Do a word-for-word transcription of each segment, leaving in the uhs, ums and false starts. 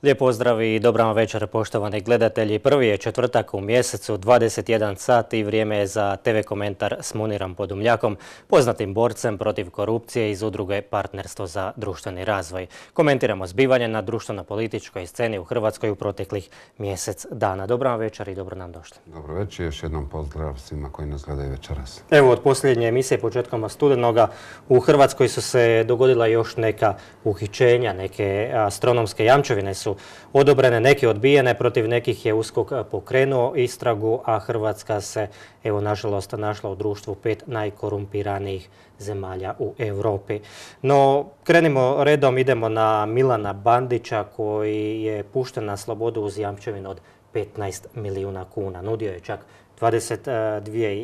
Lijep pozdrav i dobra vam večer, poštovani gledatelji. Prvi je četvrtak u mjesecu, dvadeset jedan sat i vrijeme je za te ve komentar s Munirom Podumljakom, poznatim borcem protiv korupcije iz udruge Partnerstvo za društveni razvoj. Komentiramo zbivanje na društveno-političkoj sceni u Hrvatskoj u proteklih mjesec dana. Dobra vam večer i dobro nam došli. Dobro večer, još jednom pozdrav svima koji nas gledaju večeras. Evo, od posljednje emisije početkom studenoga u Hrvatskoj su se dogodila još neka uhićenja, neke astronomske jamčevine su odobrene, neke odbijene, protiv nekih je USKOK pokrenuo istragu, a Hrvatska se, evo, nažalost, našla u društvu pet najkorumpiranijih zemalja u Europi. No, krenimo redom, idemo na Milana Bandića koji je pušten na slobodu uz jamčevinu od petnaest milijuna kuna. Nudio je čak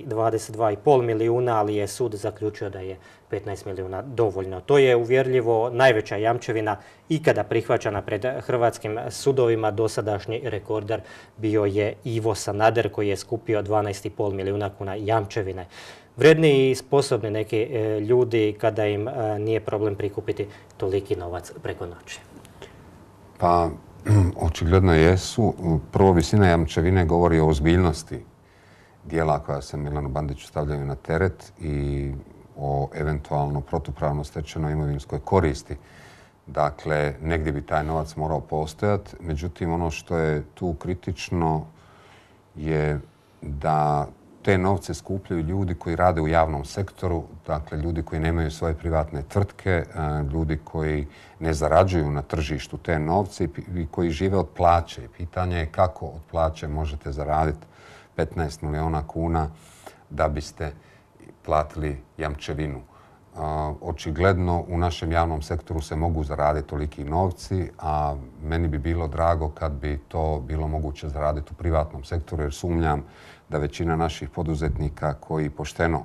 dvadeset dva i pol milijuna, ali je sud zaključio da je petnaest milijuna dovoljno. To je uvjerljivo najveća jamčevina ikada prihvaćena pred hrvatskim sudovima. Dosadašnji rekorder bio je Ivo Sanader koji je skupio dvanaest i pol milijuna kuna jamčevine. Vredni i sposobni neki ljudi kada im nije problem prikupiti toliki novac preko noći. Pa, očigledno jesu. Prvo, visina jamčevine govori o ozbiljnosti dijela koja se Milanu Bandiću stavljaju na teret i o eventualno protupravno stečenoj imovinskoj koristi. Dakle, negdje bi taj novac morao postojati. Međutim, ono što je tu kritično je da te novce skupljaju ljudi koji rade u javnom sektoru, dakle ljudi koji nemaju svoje privatne tvrtke, ljudi koji ne zarađuju na tržištu te novce i koji žive od plaće. Pitanje je kako od plaće možete zaraditi petnaest milijuna kuna da biste platili jamčevinu. Očigledno u našem javnom sektoru se mogu zaraditi toliki novci, a meni bi bilo drago kad bi to bilo moguće zaraditi u privatnom sektoru, jer sumnjam da većina naših poduzetnika koji pošteno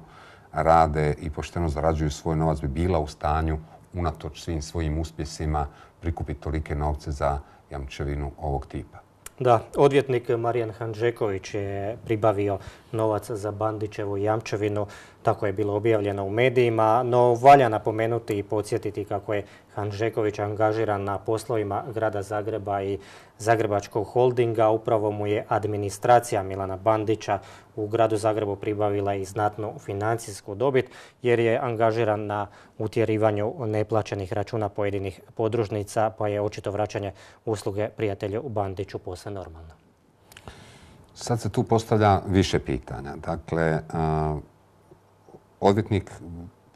rade i pošteno zarađuju svoj novac bi bila u stanju, unatoč svim svojim uspjesima, prikupiti tolike novce za jamčevinu ovog tipa. Da, odvjetnik Marijan Hanžeković je pribavio novac za Bandićevu jamčevinu, tako je bilo objavljeno u medijima, no valja napomenuti i podsjetiti kako je Hanžeković angažiran na poslovima Grada Zagreba i Zagrebačkog holdinga. Upravo mu je administracija Milana Bandića u Gradu Zagrebu pribavila i znatnu financijsku dobit jer je angažiran na utjerivanju neplaćenih računa pojedinih podružnica, pa je očito vraćanje usluge prijatelju Bandiću posve normalno. Sad se tu postavlja više pitanja. Dakle, odvjetnik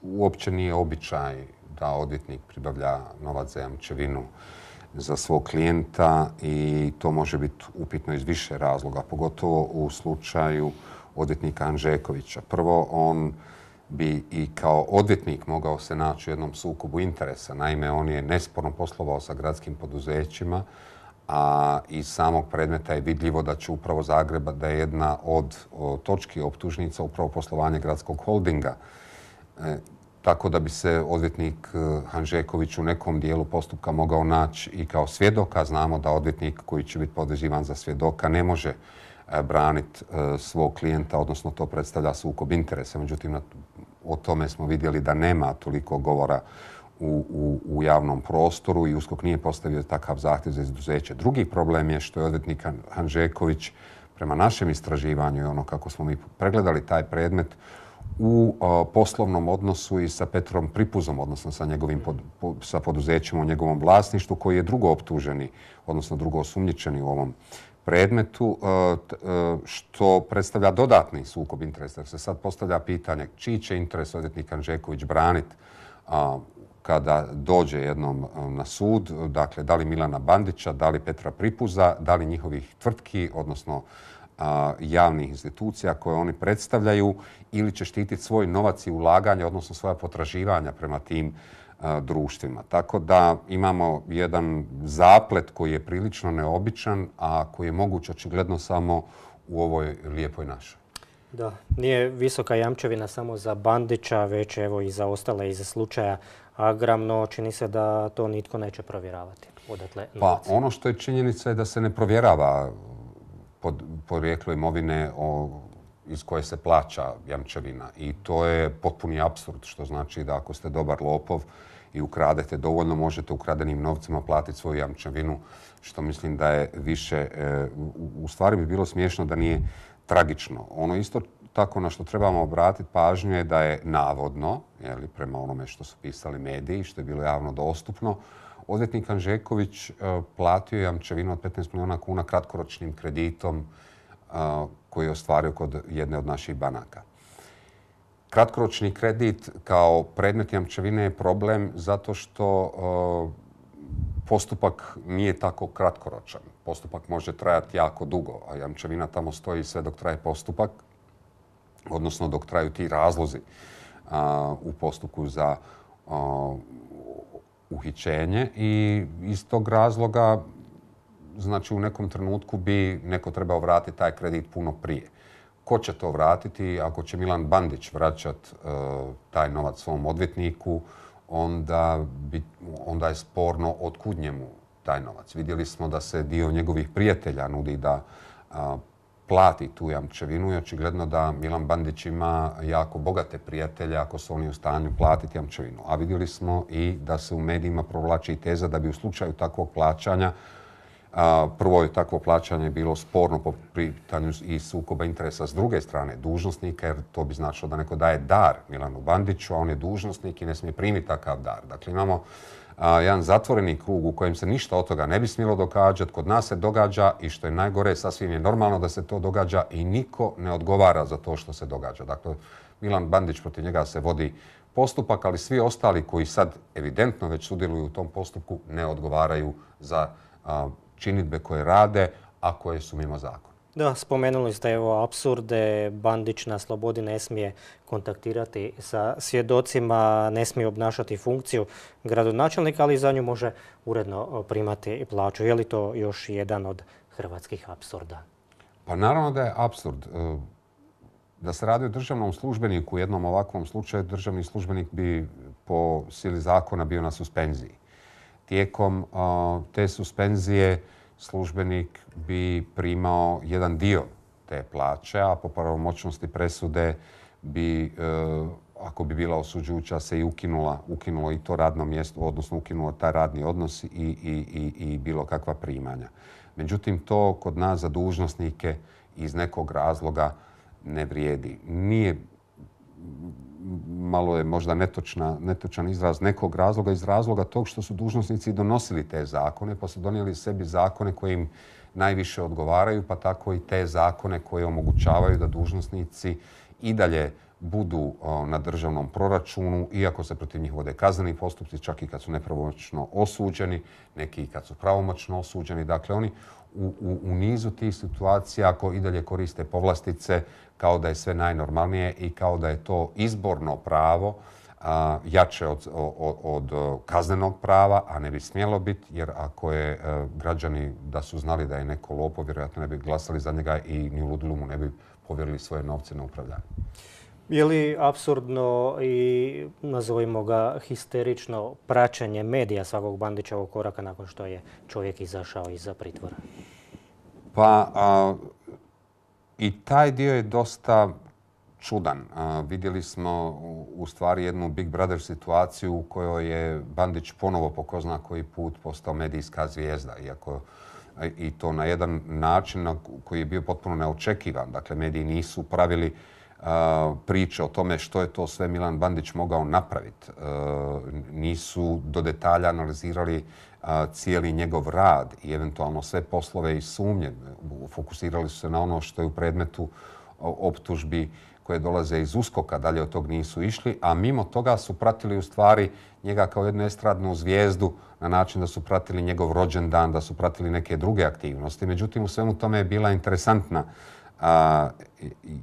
uopće nije običaj da odvjetnik pribavlja novac za jamčevinu za svog klijenta i to može biti upitno iz više razloga, pogotovo u slučaju odvjetnika Hanžekovića. Prvo, on bi i kao odvjetnik mogao se naći u jednom sukobu interesa. Naime, on je nesporno poslovao sa gradskim poduzećima, a iz samog predmeta je vidljivo da će upravo Zagreba, da je jedna od točki optužnica upravo poslovanje gradskog holdinga. E, tako da bi se odvjetnik Hanžeković u nekom dijelu postupka mogao naći i kao svjedoka. Znamo da odvjetnik koji će biti podvezivan za svjedoka ne može braniti svog klijenta, odnosno to predstavlja sukob interesa. Međutim, o tome smo vidjeli da nema toliko govora U, u, u javnom prostoru i USKOK nije postavio takav zahtjev za izuzeće. Drugi problem je što je odvjetnik Hanžeković prema našem istraživanju i ono kako smo mi pregledali taj predmet u o, poslovnom odnosu i sa Petrom Pripuzom, odnosno sa njegovim pod, po, sa poduzećima u njegovom vlasništvu koji je drugo optuženi, odnosno drugo osumnjičeni u ovom predmetu, što predstavlja dodatni sukob interesa. Se sad postavlja pitanje čiji će interes odvjetnik Hanžeković braniti kada dođe jednom na sud, dakle da li Milana Bandića, da li Petra Pripuza, da li njihovih tvrtki, odnosno a, javnih institucija koje oni predstavljaju, ili će štititi svoj novac i ulaganje, odnosno svoja potraživanja prema tim a, društvima. Tako da imamo jedan zaplet koji je prilično neobičan, a koji je moguć očigledno samo u ovoj lijepoj našoj. Da, nije visoka jamčevina samo za Bandića, već evo i za ostale iz slučaja Agram, no čini se da to nitko neće provjeravati. Odatle pa ono što je činjenica je da se ne provjerava pod, porijeklo imovine o, iz koje se plaća jamčevina. I to je potpuni apsurd, što znači da ako ste dobar lopov i ukradete dovoljno, možete ukradenim novcima platiti svoju jamčevinu, što mislim da je više, u stvari bi bilo smiješno da nije tragično. Ono isto tako na što trebamo obratiti pažnju je da je navodno, jeli, prema onome što su pisali mediji, što je bilo javno dostupno, odvjetnik Hanžeković platio jamčevinu od petnaest milijuna kuna kratkoročnim kreditom koji je ostvario kod jedne od naših banaka. Kratkoročni kredit kao predmet jamčevine je problem zato što postupak nije tako kratkoročan. Postupak može trajati jako dugo, a jamčevina tamo stoji sve dok traje postupak, odnosno dok traju ti razlozi u postupku za uhićenje. I iz tog razloga, znači u nekom trenutku bi neko trebao vratiti taj kredit puno prije. Ko će to vratiti? Ako će Milan Bandić vraćati taj novac svom odvjetniku, onda, bi, onda je sporno otkud njemu taj novac. Vidjeli smo da se dio njegovih prijatelja nudi da a, plati tu jamčevinu i očigledno da Milan Bandić ima jako bogate prijatelje ako su oni u stanju platiti jamčevinu. A vidjeli smo i da se u medijima provlači teza da bi u slučaju takvog plaćanja, a, prvo je takvo plaćanje bilo sporno po pitanju i sukoba interesa s druge strane dužnosnika, jer to bi značilo da neko daje dar Milanu Bandiću, a on je dužnosnik i ne smije primiti takav dar. Dakle, imamo a, jedan zatvoreni krug u kojem se ništa od toga ne bi smjelo događati. Kod nas se događa i što je najgore, sasvim je normalno da se to događa i niko ne odgovara za to što se događa. Dakle, Milan Bandić, protiv njega se vodi postupak, ali svi ostali koji sad evidentno već sudjeluju u tom postupku ne odgovaraju za a, činidbe koje rade, a koje su mimo zakona. Da, spomenuli ste evo apsurde, Bandić na slobodi ne smije kontaktirati sa svjedocima, ne smije obnašati funkciju gradonačelnika, ali za nju može uredno primati plaću. Je li to još jedan od hrvatskih apsurda? Pa naravno da je apsurd. Da se radi o državnom službeniku u jednom ovakvom slučaju, državni službenik bi po sili zakona bio na suspenziji. Tijekom uh, te suspenzije službenik bi primao jedan dio te plaće, a po pravomoćnosti presude bi, uh, ako bi bila osuđujuća, se i ukinula, ukinulo i to radno mjesto, odnosno ukinulo taj radni odnos i, i, i, i bilo kakva primanja. Međutim, to kod nas za dužnosnike iz nekog razloga ne vrijedi. Nije, malo je možda netočna, netočan izraz nekog razloga, iz razloga tog što su dužnosnici donosili te zakone, pa su donijeli sebi zakone koji im najviše odgovaraju, pa tako i te zakone koje omogućavaju da dužnosnici i dalje budu o, na državnom proračunu, iako se protiv njih vode kazneni postupci, čak i kad su nepravomoćno osuđeni, neki i kad su pravomoćno osuđeni. Dakle, oni u, u, u nizu tih situacija ako i dalje koriste povlastice kao da je sve najnormalnije i kao da je to izborno pravo a, jače od, od, od kaznenog prava, a ne bi smjelo biti, jer ako je a, građani da su znali da je neko lopov, vjerojatno ne bi glasali za njega i ni u ludilu mu ne bi povjerili svoje novce na upravljanje. Je li apsurdno i, nazovimo ga, histerično praćenje medija svakog Bandićevog koraka nakon što je čovjek izašao iza pritvora? Pa a, i taj dio je dosta čudan. A, vidjeli smo u, u stvari jednu Big Brother situaciju u kojoj je Bandić ponovo po ko zna koji put postao medijska zvijezda, iako i to na jedan način na koji je bio potpuno neočekivan. Dakle, mediji nisu pravili Uh, priče o tome što je to sve Milan Bandić mogao napraviti. Uh, nisu do detalja analizirali uh, cijeli njegov rad i eventualno sve poslove i sumnje. Fokusirali su se na ono što je u predmetu optužbi koje dolaze iz uskoka, dalje od tog nisu išli, a mimo toga su pratili u stvari njega kao jednu estradnu zvijezdu na način da su pratili njegov rođendan, da su pratili neke druge aktivnosti. Međutim, u svemu tome je bila interesantna A,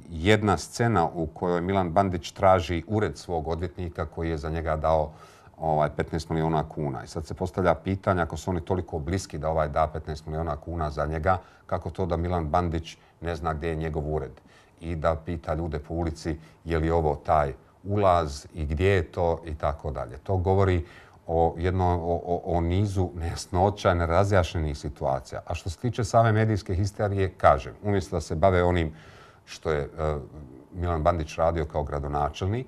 jedna scena u kojoj Milan Bandić traži ured svog odvjetnika koji je za njega dao ovaj, petnaest milijuna kuna. I sad se postavlja pitanje, ako su oni toliko bliski da ovaj da petnaest milijuna kuna za njega, kako to da Milan Bandić ne zna gdje je njegov ured i da pita ljude po ulici je li ovo taj ulaz i gdje je to i tako dalje. To govori o, jedno, o, o nizu nejasnoća, nerazjašnjenih situacija. A što se tiče same medijske histerije, kažem, umjesto da se bave onim što je Milan Bandić radio kao gradonačelnik.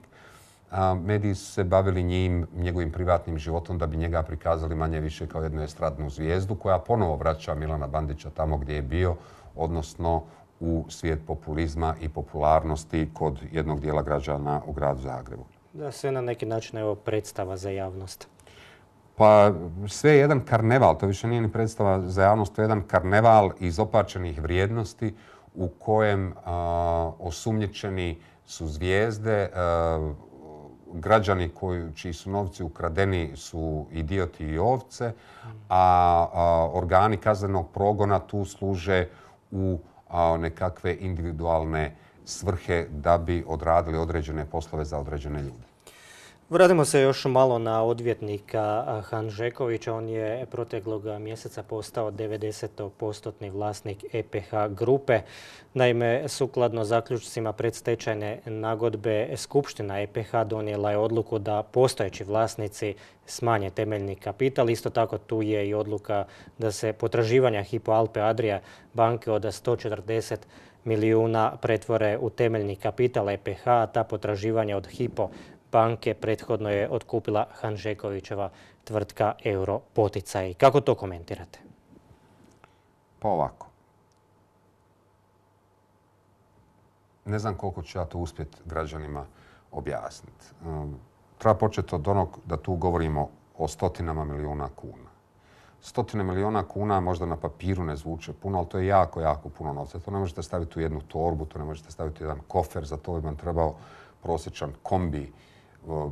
Mediji su se bavili njim, njegovim privatnim životom da bi njega prikazali manje više kao jednu estradnu zvijezdu koja ponovo vraća Milana Bandića tamo gdje je bio, odnosno u svijet populizma i popularnosti kod jednog dijela građana u gradu Zagrebu. Da, sve na neki način evo predstava za javnost. Pa sve je jedan karneval, to više nije ni predstava za javnost, to je jedan karneval izopačenih vrijednosti u kojem a, osumnjičeni su zvijezde, a, građani koji, čiji su novci ukradeni su idioti i ovce, a, a organi kaznenog progona tu služe u a, nekakve individualne svrhe da bi odradili određene poslove za određene ljude. Vratimo se još malo na odvjetnika Hanžekovića. On je proteklog mjeseca postao devedeset posto vlasnik E P H grupe. Naime, sukladno zaključcima predstečajne nagodbe, Skupština E P H donijela je odluku da postojeći vlasnici smanje temeljni kapital. Isto tako tu je i odluka da se potraživanja Hypo Alpe Adria banke od sto četrdeset milijuna pretvore u temeljni kapital E P H, a ta potraživanja od Hypo banke prethodno je otkupila Hanžekovićeva tvrtka Euro Poticaji. Kako to komentirate? Pa ovako. Ne znam koliko ću ja to uspjeti građanima objasniti. Treba početi od onog da tu govorimo o stotinama milijuna kuna. Stotine milijuna kuna možda na papiru ne zvuče puno, ali to je jako, jako puno novca. To ne možete staviti u jednu torbu, to ne možete staviti u jedan kofer, za to bi vam trebao prosječan kombi,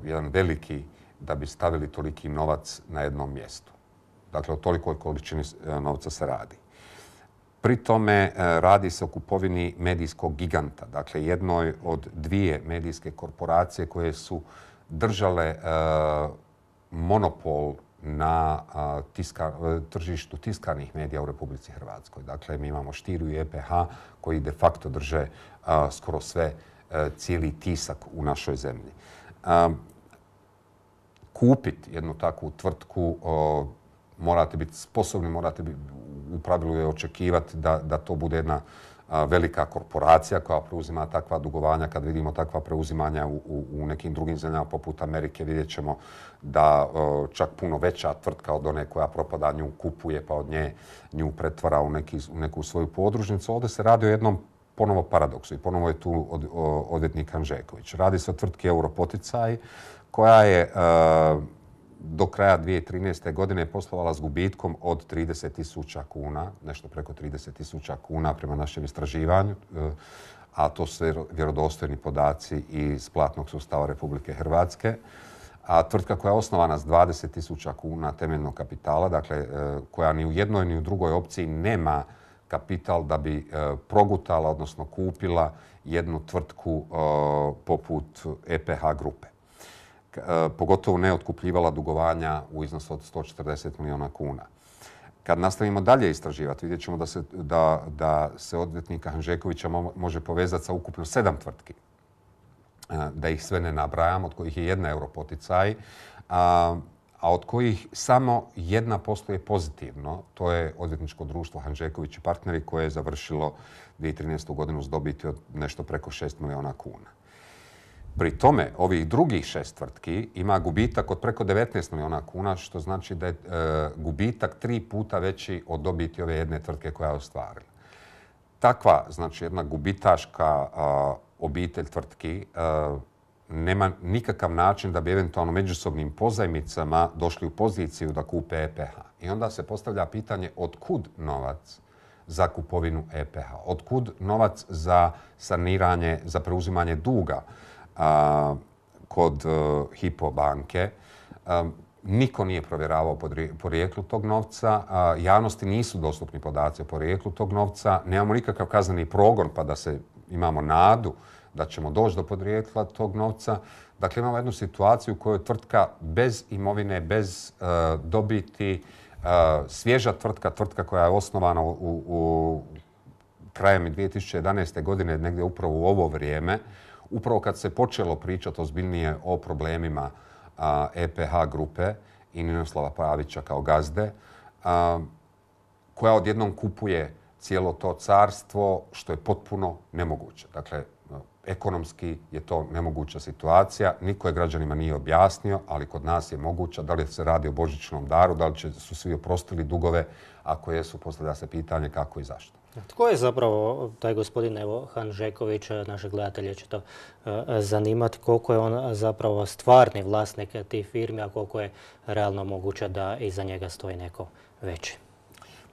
jedan veliki, da bi stavili toliki novac na jednom mjestu. Dakle, o tolikoj količini novca se radi. Pri tome radi se o kupovini medijskog giganta, dakle jednoj od dvije medijske korporacije koje su držale monopol na tiska, tržištu tiskanih medija u Republici Hrvatskoj. Dakle, mi imamo Štiru i E P H koji de facto drže skoro sve, cijeli tisak u našoj zemlji. Kupiti jednu takvu tvrtku morate biti sposobni, morate biti, u pravilu je očekivati da, da to bude jedna velika korporacija koja preuzima takva dugovanja. Kad vidimo takva preuzimanja u, u, u nekim drugim zemljama poput Amerike, vidjet ćemo da čak puno veća tvrtka od one koja propada nju kupuje pa od nje nju pretvara u, neki, u neku svoju podružnicu. Ovdje se radi o jednom ponovo paradoksu i ponovo je tu od, o, odvjetnik Hanžeković. Radi se o tvrtki Euro Poticaji koja je e, do kraja dvije tisuće trinaeste. godine poslovala s gubitkom od trideset tisuća kuna, nešto preko trideset tisuća kuna prema našem istraživanju, e, a to su vjerodostojni podaci iz platnog sustava Republike Hrvatske. A tvrtka koja je osnovana s dvadeset tisuća kuna temeljnog kapitala, dakle e, koja ni u jednoj ni u drugoj opciji nema kapital da bi e, progutala, odnosno kupila jednu tvrtku e, poput E P H grupe. E, pogotovo ne otkupljivala dugovanja u iznosu od sto četrdeset milijuna kuna. Kad nastavimo dalje istraživati, vidjet ćemo da se, da, da se odvjetnika Hanžekovića mo, može povezati sa ukupno sedam tvrtki. E, da ih sve ne nabrajam, od kojih je jedna Euro Poticaj, a, a od kojih samo jedna posluje pozitivno. To je odvjetničko društvo Hanžeković i partneri koje je završilo dvije tisuće trinaestu. godinu s dobiti od nešto preko šest milijuna kuna. Pri tome, ovih drugih šest tvrtki ima gubitak od preko devetnaest milijuna kuna, što znači da je e, gubitak tri puta veći od dobiti ove jedne tvrtke koja je ostvarila. Takva, znači jedna gubitaška a, obitelj tvrtki a, nema nikakav način da bi eventualno međusobnim pozajmicama došli u poziciju da kupe E P H. I onda se postavlja pitanje otkud novac za kupovinu E P H, otkud novac za saniranje, za preuzimanje duga a, kod a, Hypo banke. A, niko nije provjeravao porijeklu tog novca, a, javnosti nisu dostupni podaci o porijeklu tog novca, nemamo nikakav kazneni progon pa da se imamo nadu da ćemo doći do podrijetla tog novca. Dakle, imamo jednu situaciju u kojoj tvrtka bez imovine, bez uh, dobiti, uh, svježa tvrtka, tvrtka koja je osnovana u, u krajem dvije tisuće jedanaeste. godine, negdje upravo u ovo vrijeme, upravo kad se počelo pričati ozbiljnije o problemima uh, E P H grupe i Ninoslava Pavića kao gazde, uh, koja odjednom kupuje cijelo to carstvo, što je potpuno nemoguće. Dakle, ekonomski je to nemoguća situacija. Niko je građanima nije objasnio, ali kod nas je moguća. Da li se radi o božićnom daru, da li će, su svi oprostili dugove, ako jesu, postavlja se pitanje kako i zašto. Tko je zapravo taj gospodin evo, Hanžeković, naše gledatelje će to uh, zanimati, koliko je on zapravo stvarni vlasnik tih firmi, a koliko je realno moguće da iza njega stoji neko veći?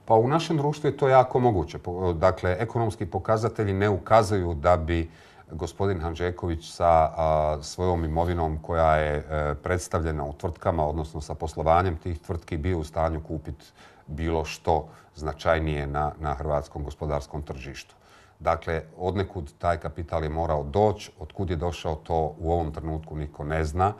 Pa u našem društvu je to jako moguće. Dakle, ekonomski pokazatelji ne ukazuju da bi gospodin Hanžeković sa a, svojom imovinom koja je e, predstavljena u tvrtkama, odnosno sa poslovanjem tih tvrtki, bio u stanju kupiti bilo što značajnije na, na hrvatskom gospodarskom tržištu. Dakle, odnekud taj kapital je morao doći, otkud je došao, to u ovom trenutku niko ne zna.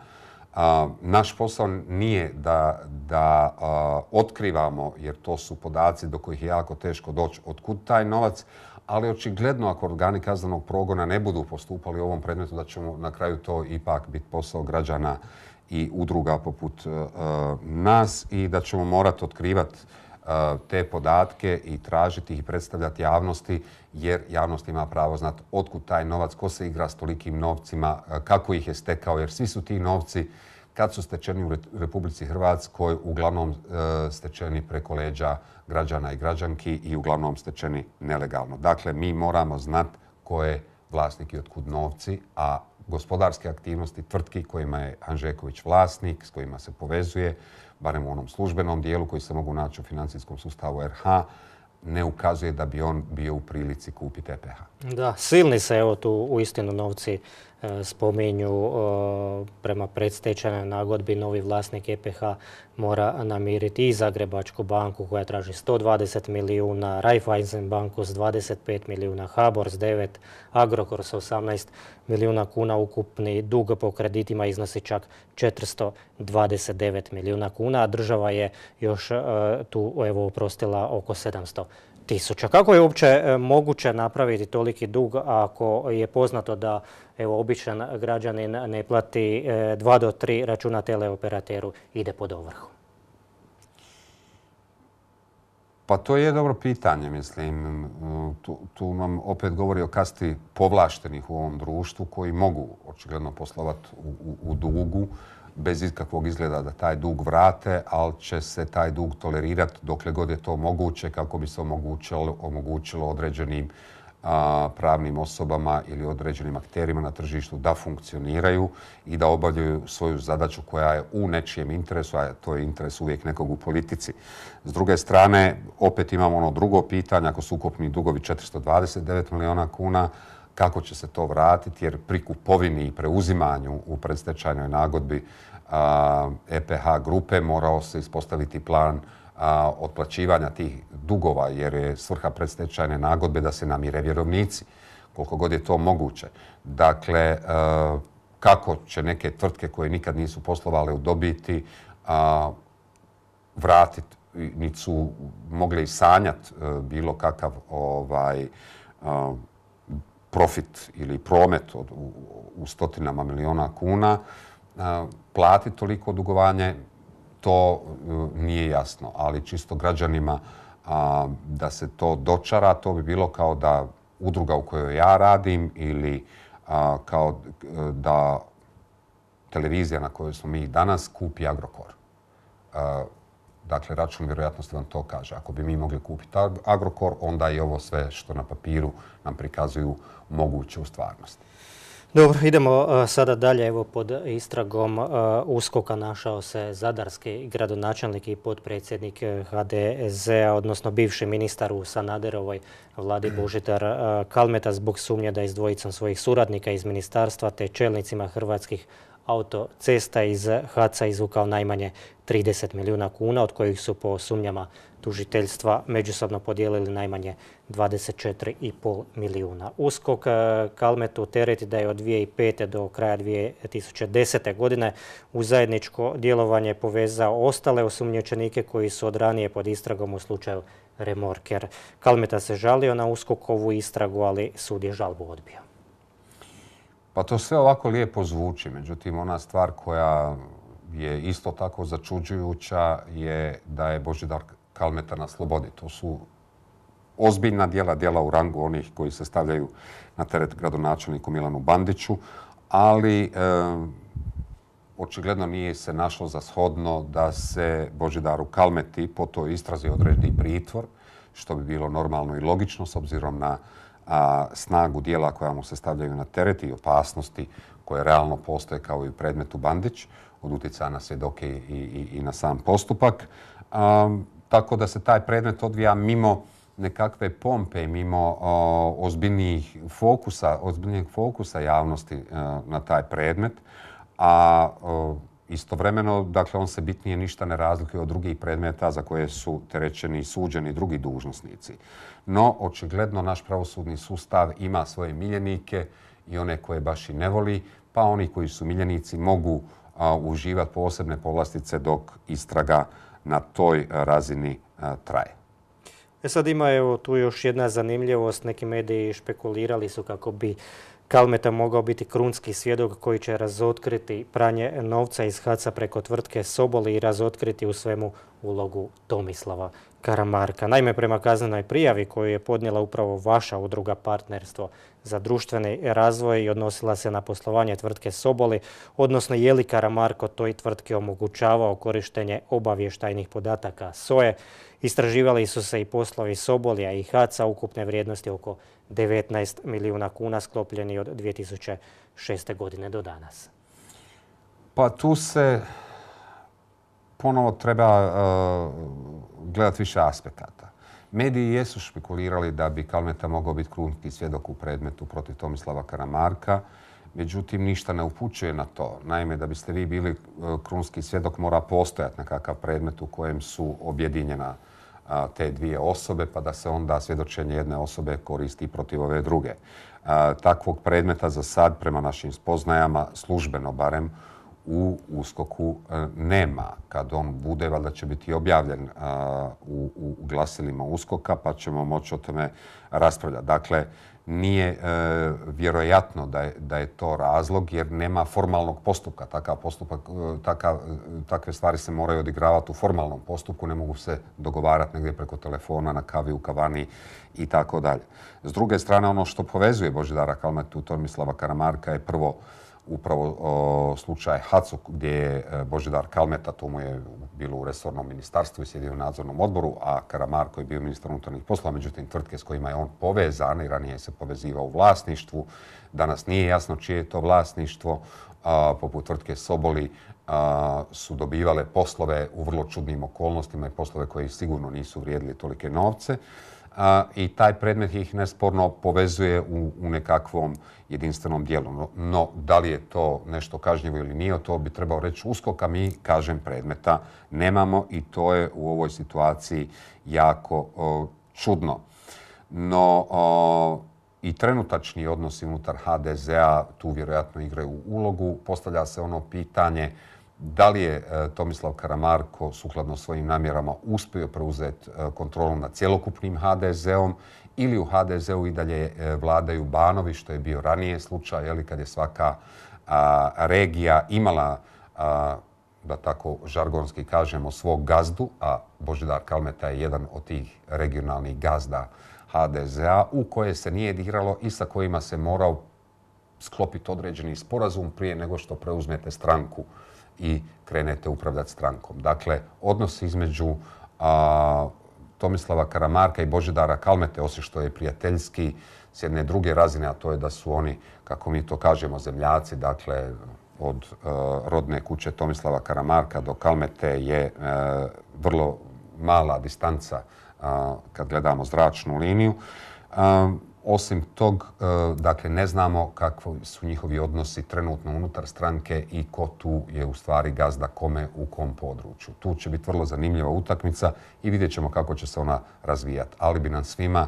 A, naš posao nije da, da a, otkrivamo, jer to su podaci do kojih je jako teško doći, otkud taj novac, ali očigledno ako organi kaznenog progona ne budu postupali u ovom predmetu, da ćemo na kraju to ipak biti posao građana i udruga poput uh, nas i da ćemo morati otkrivati uh, te podatke i tražiti ih i predstavljati javnosti, jer javnost ima pravo znati otkud taj novac, ko se igra s tolikim novcima, uh, kako ih je stekao, jer svi su ti novci kad su stečeni u Republici Hrvatskoj uglavnom uh, stečeni preko leđa građana i građanki i uglavnom stečeni nelegalno. Dakle, mi moramo znati ko je vlasnik i otkud novci, a gospodarske aktivnosti tvrtki kojima je Hanžeković vlasnik, s kojima se povezuje, barem u onom službenom dijelu koji se mogu naći u financijskom sustavu er ha, ne ukazuje da bi on bio u prilici kupiti e pe ha. Da, silni se evo tu uistinu novci e, spominju e, prema predstečajnoj nagodbi. Novi vlasnik e pe ha mora namiriti i Zagrebačku banku koja traži sto dvadeset milijuna, Raiffeisen banku s dvadeset pet milijuna, HBOR s devet, Agrokor s osamnaest milijuna kuna. Ukupni dug po kreditima iznosi čak četiristo dvadeset devet milijuna kuna, a država je još e, tu evo oprostila oko sedamsto tisuća. Kako je uopće moguće napraviti toliki dug ako je poznato da evo, običan građanin ne plati dva do tri računa teleoperateru, ide pod ovrhu? Pa to je dobro pitanje, mislim. Tu, tu nam opet govori o kasti povlaštenih u ovom društvu koji mogu očigledno poslovati u, u, u dugu bez ikakvog izgleda da taj dug vrate, ali će se taj dug tolerirati dokle god je to moguće kako bi se omogućilo, omogućilo određenim a, pravnim osobama ili određenim akterima na tržištu da funkcioniraju i da obavljaju svoju zadaću koja je u nečijem interesu, a to je interes uvijek nekog u politici. S druge strane, opet imamo ono drugo pitanje, ako su ukupni dugovi četiristo dvadeset devet milijuna kuna, kako će se to vratiti, jer pri kupovini i preuzimanju u predstečajnoj nagodbi a, e pe ha grupe morao se ispostaviti plan a, otplaćivanja tih dugova, jer je svrha predstečajne nagodbe da se namire vjerovnici, koliko god je to moguće. Dakle, a, kako će neke tvrtke koje nikad nisu poslovale u dobiti a, vratiti, niti su mogli i sanjati bilo kakav ovaj, a, profit ili promet od, u, u stotinama miliona kuna, a, platiti toliko dugovanje, to a, nije jasno. Ali čisto građanima a, da se to dočara, to bi bilo kao da udruga u kojoj ja radim ili a, kao da televizija na kojoj smo mi danas kupi Agrokor. A, Dakle, račun vjerojatnosti vam to kaže. Ako bi mi mogli kupiti Agrokor, onda i ovo sve što na papiru nam prikazuju moguće u stvarnosti. Dobro, idemo uh, sada dalje. Evo, pod istragom uh, uskoka našao se zadarski gradonačelnik i potpredsjednik ha de zea, odnosno bivši ministar u Sanaderovoj vladi Božidar uh, Kalmeta zbog sumnje da je s dvojicom svojih suradnika iz ministarstva te čelnicima Hrvatskih autocesta iz haca izvukao najmanje trideset milijuna kuna, od kojih su po sumnjama tužiteljstva međusobno podijelili najmanje dvadeset četiri i pol milijuna. Uskok Kalmetu tereti da je od dvije tisuće pete do kraja dvije tisuće desete. godine u zajedničko djelovanje povezao ostale osumnjičenike koji su od ranije pod istragom u slučaju Remorker. Kalmeta se žalio na Uskokovu istragu, ali sud je žalbu odbio. Pa to sve ovako lijepo zvuči. Međutim, ona stvar koja je isto tako začuđujuća je da je Božidar Kalmeta na slobodi. To su ozbiljna djela, djela u rangu onih koji se stavljaju na teret gradonačelniku Milanu Bandiću, ali e, očigledno nije se našlo za shodno da se Božidaru Kalmeti po toj istrazi odredi pritvor, što bi bilo normalno i logično s obzirom na a, snagu djela koja mu se stavljaju na teret i opasnosti koje realno postoje kao i u predmetu Bandić, od utjecaja na svjedoke i, i, i na sam postupak. A, tako da se taj predmet odvija mimo nekakve pompe i mimo o, ozbiljnijih fokusa, ozbiljnijeg fokusa javnosti a, na taj predmet, a o, istovremeno, dakle, on se bitnije ništa ne razlikuje od drugih predmeta za koje su terećeni i suđeni drugi dužnosnici. No, očigledno, naš pravosudni sustav ima svoje miljenike i one koje baš i ne voli, pa oni koji su miljenici mogu a, uživati posebne povlastice dok istraga na toj razini a, traje. E sad ima evo, tu još jedna zanimljivost. Neki mediji špekulirali su kako bi Kalmeta mogao biti krunski svjedok koji će razotkriti pranje novca iz HAC-a preko tvrtke Sobol i razotkriti u svemu ulogu Tomislava Karamarka. Naime, prema kaznenoj prijavi koju je podnijela upravo vaša udruga Partnerstvo za društveni razvoj i odnosila se na poslovanje tvrtke Soboli, odnosno je li Karamarko toj tvrtki omogućavao korištenje obavještajnih podataka S O E. Istraživali su se i poslovi Sobolija i HAC-a ukupne vrijednosti oko devetnaest milijuna kuna sklopljeni od dvije tisuće šeste. godine do danas. Pa tu se ponovo treba uh, gledati više aspekata. Mediji jesu špekulirali da bi Kalmeta mogao biti krunski svjedok u predmetu protiv Tomislava Karamarka, međutim ništa ne upućuje na to. Naime, da biste vi bili krunski svjedok mora postojati nekakav predmet u kojem su objedinjena a, te dvije osobe, pa da se onda svjedočenje jedne osobe koristi protiv ove druge. A, takvog predmeta za sad, prema našim spoznajama, službeno barem, u USKOK-u nema. Kad on bude, valjda će biti objavljen a, u, u glasilima USKOK-a, pa ćemo moći o tome raspravljati. Dakle, nije e, vjerojatno da je, da je to razlog jer nema formalnog postupka. Takav postupak, takav, takve stvari se moraju odigravati u formalnom postupku, ne mogu se dogovarati negdje preko telefona, na kavi, u kavani i tako dalje. S druge strane, ono što povezuje Božidara Kalmetu i Tomislava Karamarka je prvo upravo o, slučaj HAC-u gdje je Božidar Kalmeta, to mu je bilo u resornom ministarstvu i sjedio u nadzornom odboru, a Karamarko je bio ministar unutarnjih poslova, međutim tvrtke s kojima je on povezan i ranije se povezivao u vlasništvu. Danas nije jasno čije je to vlasništvo. A, poput tvrtke Soboli a, su dobivale poslove u vrlo čudnim okolnostima i poslove koji sigurno nisu vrijedili tolike novce. A, i taj predmet ih nesporno povezuje u, u nekakvom jedinstvenom dijelu. No, no, da li je to nešto kažnjivo ili nije, to bi trebao reći USKOK, a mi, kažem, predmeta nemamo i to je u ovoj situaciji jako o, čudno. No, o, i trenutačni odnosi unutar ha de zea tu vjerojatno igraju ulogu. Postavlja se ono pitanje da li je Tomislav Karamarko sukladno svojim namjerama uspio preuzeti kontrolu nad cjelokupnim ha de zeom ili u ha de zeu i dalje vladaju banovi, što je bio ranije slučaj, jeli, kad je svaka a, regija imala, a, da tako žargonski kažemo, svog gazdu, a Božidar Kalmeta je jedan od tih regionalnih gazda ha de zea u koje se nije diralo i sa kojima se morao sklopiti određeni sporazum prije nego što preuzmete stranku i krenete upravljati strankom. Dakle, odnos između a, Tomislava Karamarka i Božidara Kalmete, osim što je prijateljski s jedne druge razine, a to je da su oni, kako mi to kažemo, zemljaci, dakle, od a, rodne kuće Tomislava Karamarka do Kalmete je a, vrlo mala distanca a, kad gledamo zračnu liniju. A, Osim tog, dakle, ne znamo kakvi su njihovi odnosi trenutno unutar stranke i ko tu je u stvari gazda kome u kom području. Tu će biti vrlo zanimljiva utakmica i vidjet ćemo kako će se ona razvijati. Ali bi nam svima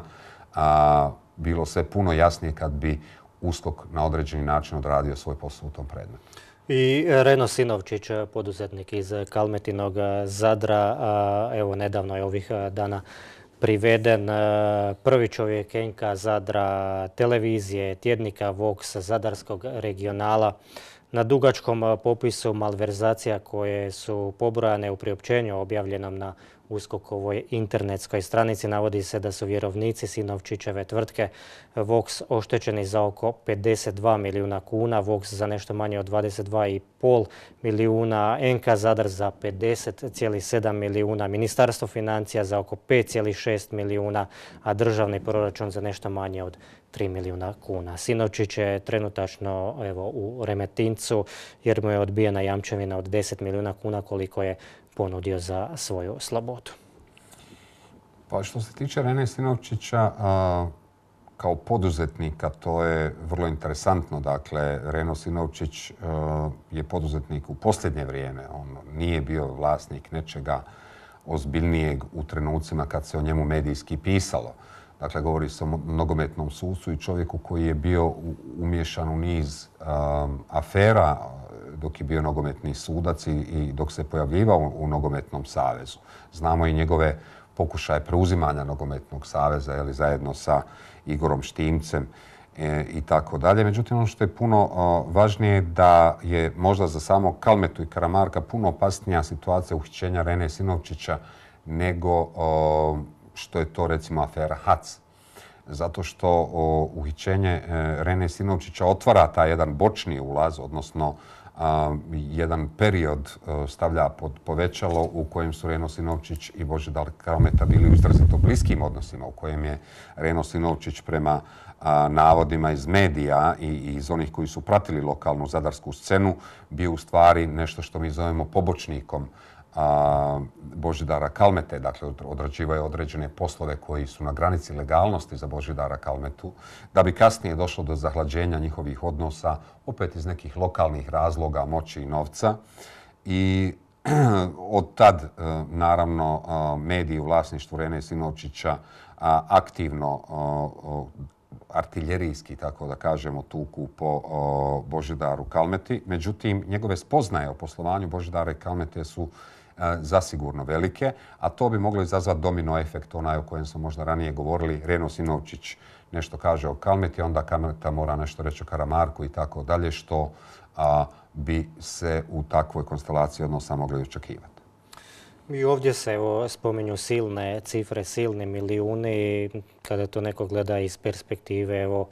a, bilo sve puno jasnije kad bi USKOK na određeni način odradio svoj posao u tom predmetu. I Reno Sinovčić, poduzetnik iz Kalmetinog Zadra, a, evo nedavno je ovih dana priveden, prvi čovjek Enka Zadra, televizije, tjednika Vox, Zadarskog regionala. Na dugačkom popisu malverzacija koje su pobrojane u priopćenju objavljenom na USKOK-ovoj internetskoj stranici navodi se da su vjerovnici Sinovčićeve tvrtke Vox oštećeni za oko pedeset dva milijuna kuna, Vox za nešto manje od dvadeset dva i pol milijuna, N K Zadar za pedeset zarez sedam milijuna, Ministarstvo financija za oko pet zarez šest milijuna, a državni proračun za nešto manje od tri milijuna kuna. Sinovčić je trenutačno evo, u Remetincu jer mu je odbijena jamčevina od deset milijuna kuna koliko je ponudio za svoju slobodu. Pa što se tiče Rene Sinovčića, kao poduzetnika to je vrlo interesantno. Dakle, Reno Sinovčić je poduzetnik u posljednje vrijeme. On nije bio vlasnik nečega ozbiljnijeg u trenucima kad se o njemu medijski pisalo. Dakle, govori se o nogometnom sucu i čovjeku koji je bio umiješan u niz um, afera dok je bio nogometni sudac i, i dok se pojavljivao u nogometnom savezu. Znamo i njegove pokušaje preuzimanja nogometnog saveza jeli, zajedno sa Igorom Štimcem e, i tako dalje. Međutim, ono što je puno o, važnije da je možda za samo Kalmetu i Karamarka puno opasnija situacija uhićenja Rene Sinovčića nego o, što je to recimo afera H A C. Zato što o, uhićenje e, Rene Sinovčića otvara taj jedan bočni ulaz, odnosno a, jedan period a, stavlja pod povećalo u kojem su Reno Sinovčić i Božidar Kalmeta bili u izrazito bliskim odnosima, u kojem je Reno Sinovčić prema a, navodima iz medija i, i iz onih koji su pratili lokalnu zadarsku scenu bio u stvari nešto što mi zovemo pobočnikom a, Božidara Kalmete. Dakle, odrađivao je određene poslove koji su na granici legalnosti za Božidara Kalmetu, da bi kasnije došlo do zahlađenja njihovih odnosa, opet iz nekih lokalnih razloga, moći i novca. I od tad, naravno, mediji u vlasništvu Rene Sinovčića aktivno artiljerijski, tako da kažemo, tuku po o, Božidaru Kalmeti. Međutim, njegove spoznaje o poslovanju Božidara i Kalmete su e, zasigurno velike, a to bi moglo izazvati domino efekt, onaj o kojem smo možda ranije govorili. Reno Sinovčić nešto kaže o Kalmeti, onda Kalmeta mora nešto reći o Karamarku i tako dalje, što a, bi se u takvoj konstelaciji odnosa mogli očekivati. I ovdje se evo, spominju silne cifre, silni milijuni, kada to neko gleda iz perspektive evo,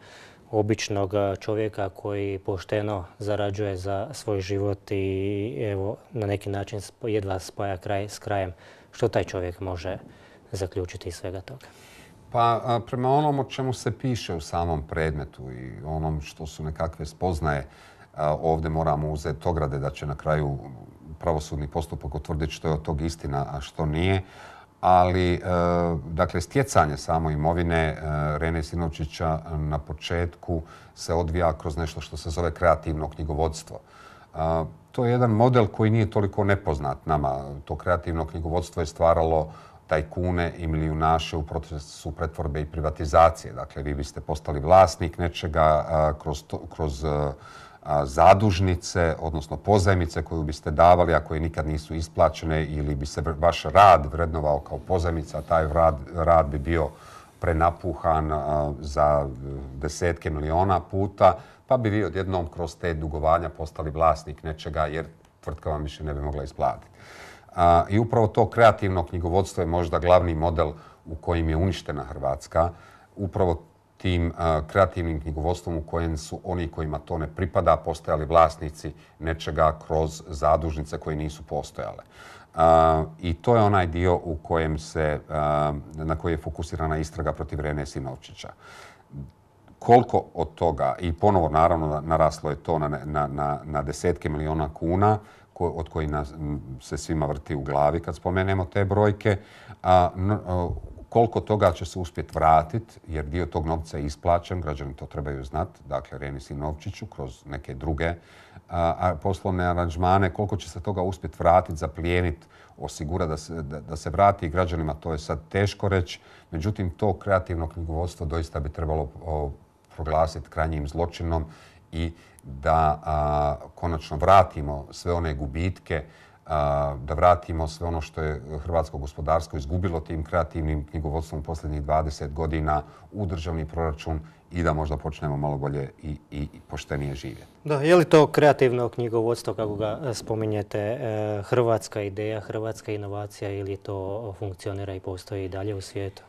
običnog čovjeka koji pošteno zarađuje za svoj život i evo, na neki način jedva spaja kraj s krajem. Što taj čovjek može zaključiti iz svega toga? Pa prema onom o čemu se piše u samom predmetu i onom što su nekakve spoznaje, ovdje moramo uzeti ograde da će na kraju pravosudni postupak utvrditi što je od tog istina, a što nije. Ali, e, dakle, stjecanje samo imovine e, Rene Sinovčića na početku se odvija kroz nešto što se zove kreativno knjigovodstvo. E, to je jedan model koji nije toliko nepoznat nama. To kreativno knjigovodstvo je stvaralo tajkune i milijunaše u procesu pretvorbe i privatizacije. Dakle, vi biste postali vlasnik nečega a, kroz, to, kroz a, zadužnice, odnosno pozajmice koju biste davali, a koje nikad nisu isplaćene, ili bi se vaš rad vrednovao kao pozajmica, taj rad, rad bi bio prenapuhan za desetke miliona puta, pa bi vi odjednom kroz te dugovanja postali vlasnik nečega jer tvrtka vam više ne bi mogla isplatiti. I upravo to kreativno knjigovodstvo je možda glavni model u kojim je uništena Hrvatska. Upravo tim uh, kreativnim knjigovodstvom u kojem su oni kojima to ne pripada postojali vlasnici nečega kroz zadužnice koje nisu postojale. Uh, I to je onaj dio u kojem se, uh, na koji je fokusirana istraga protiv Rene Sinovčića. Koliko od toga, i ponovo naravno naraslo je to na, na, na, na desetke miliona kuna, ko, od kojih nas, se svima vrti u glavi kad spomenemo te brojke, a, uh, koliko toga će se uspjeti vratiti, jer dio tog novca je isplaćen, građani to trebaju znati, dakle Reni Sinovčiću kroz neke druge a, poslovne aranžmane, koliko će se toga uspjeti vratiti, zaplijeniti, osigurati da se, da, da se vrati građanima, to je sad teško reći. Međutim, to kreativno knjigovodstvo doista bi trebalo o, proglasiti krajnjim zločinom i da a, konačno vratimo sve one gubitke, da vratimo sve ono što je hrvatsko gospodarstvo izgubilo tim kreativnim knjigovodstvom u posljednjih dvadeset godina u državni proračun i da možda počnemo malo bolje i, i poštenije živjeti. Da, je li to kreativno knjigovodstvo, kako ga spominjete, hrvatska ideja, hrvatska inovacija ili to funkcionira i postoji i dalje u svijetu?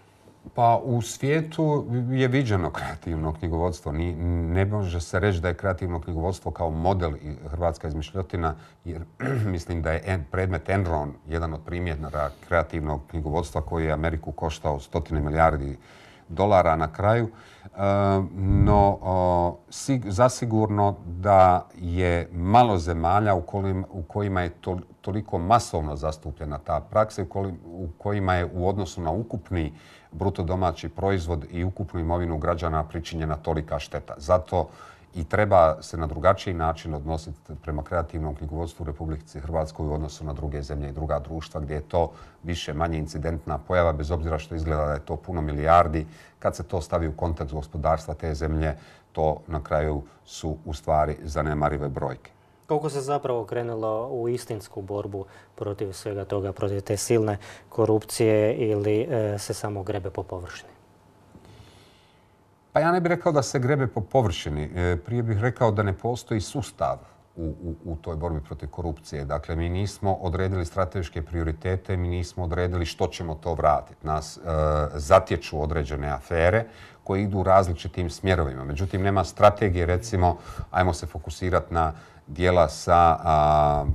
Pa u svijetu je viđeno kreativno knjigovodstvo. Ni, ne može se reći da je kreativno knjigovodstvo kao model i hrvatska izmišljotina, jer mislim da je predmet Enron jedan od primjera kreativnog knjigovodstva koji je Ameriku koštao stotine milijardi dolara na kraju. No, zasigurno da je malo zemalja u kojima je toliko masovno zastupljena ta praksa, u kojima je u odnosu na ukupni bruto domaći proizvod i ukupnu imovinu građana pričinjena tolika šteta. Zato i treba se na drugačiji način odnositi prema kreativnom knjigovodstvu u Republici Hrvatskoj u odnosu na druge zemlje i druga društva gdje je to više manje incidentna pojava, bez obzira što izgleda da je to puno milijardi. Kad se to stavi u kontekst gospodarstva te zemlje, to na kraju su u stvari zanemarive brojke. Koliko se zapravo krenulo u istinsku borbu protiv svega toga, protiv te silne korupcije ili e, se samo grebe po površini? Pa ja ne bih rekao da se grebe po površini. E, prije bih rekao da ne postoji sustav u, u, u toj borbi protiv korupcije. Dakle, mi nismo odredili strateške prioritete, mi nismo odredili što ćemo to vratiti. Nas e, zatječu određene afere koje idu u različitim smjerovima. Međutim, nema strategije, recimo, ajmo se fokusirati na dijela sa, a,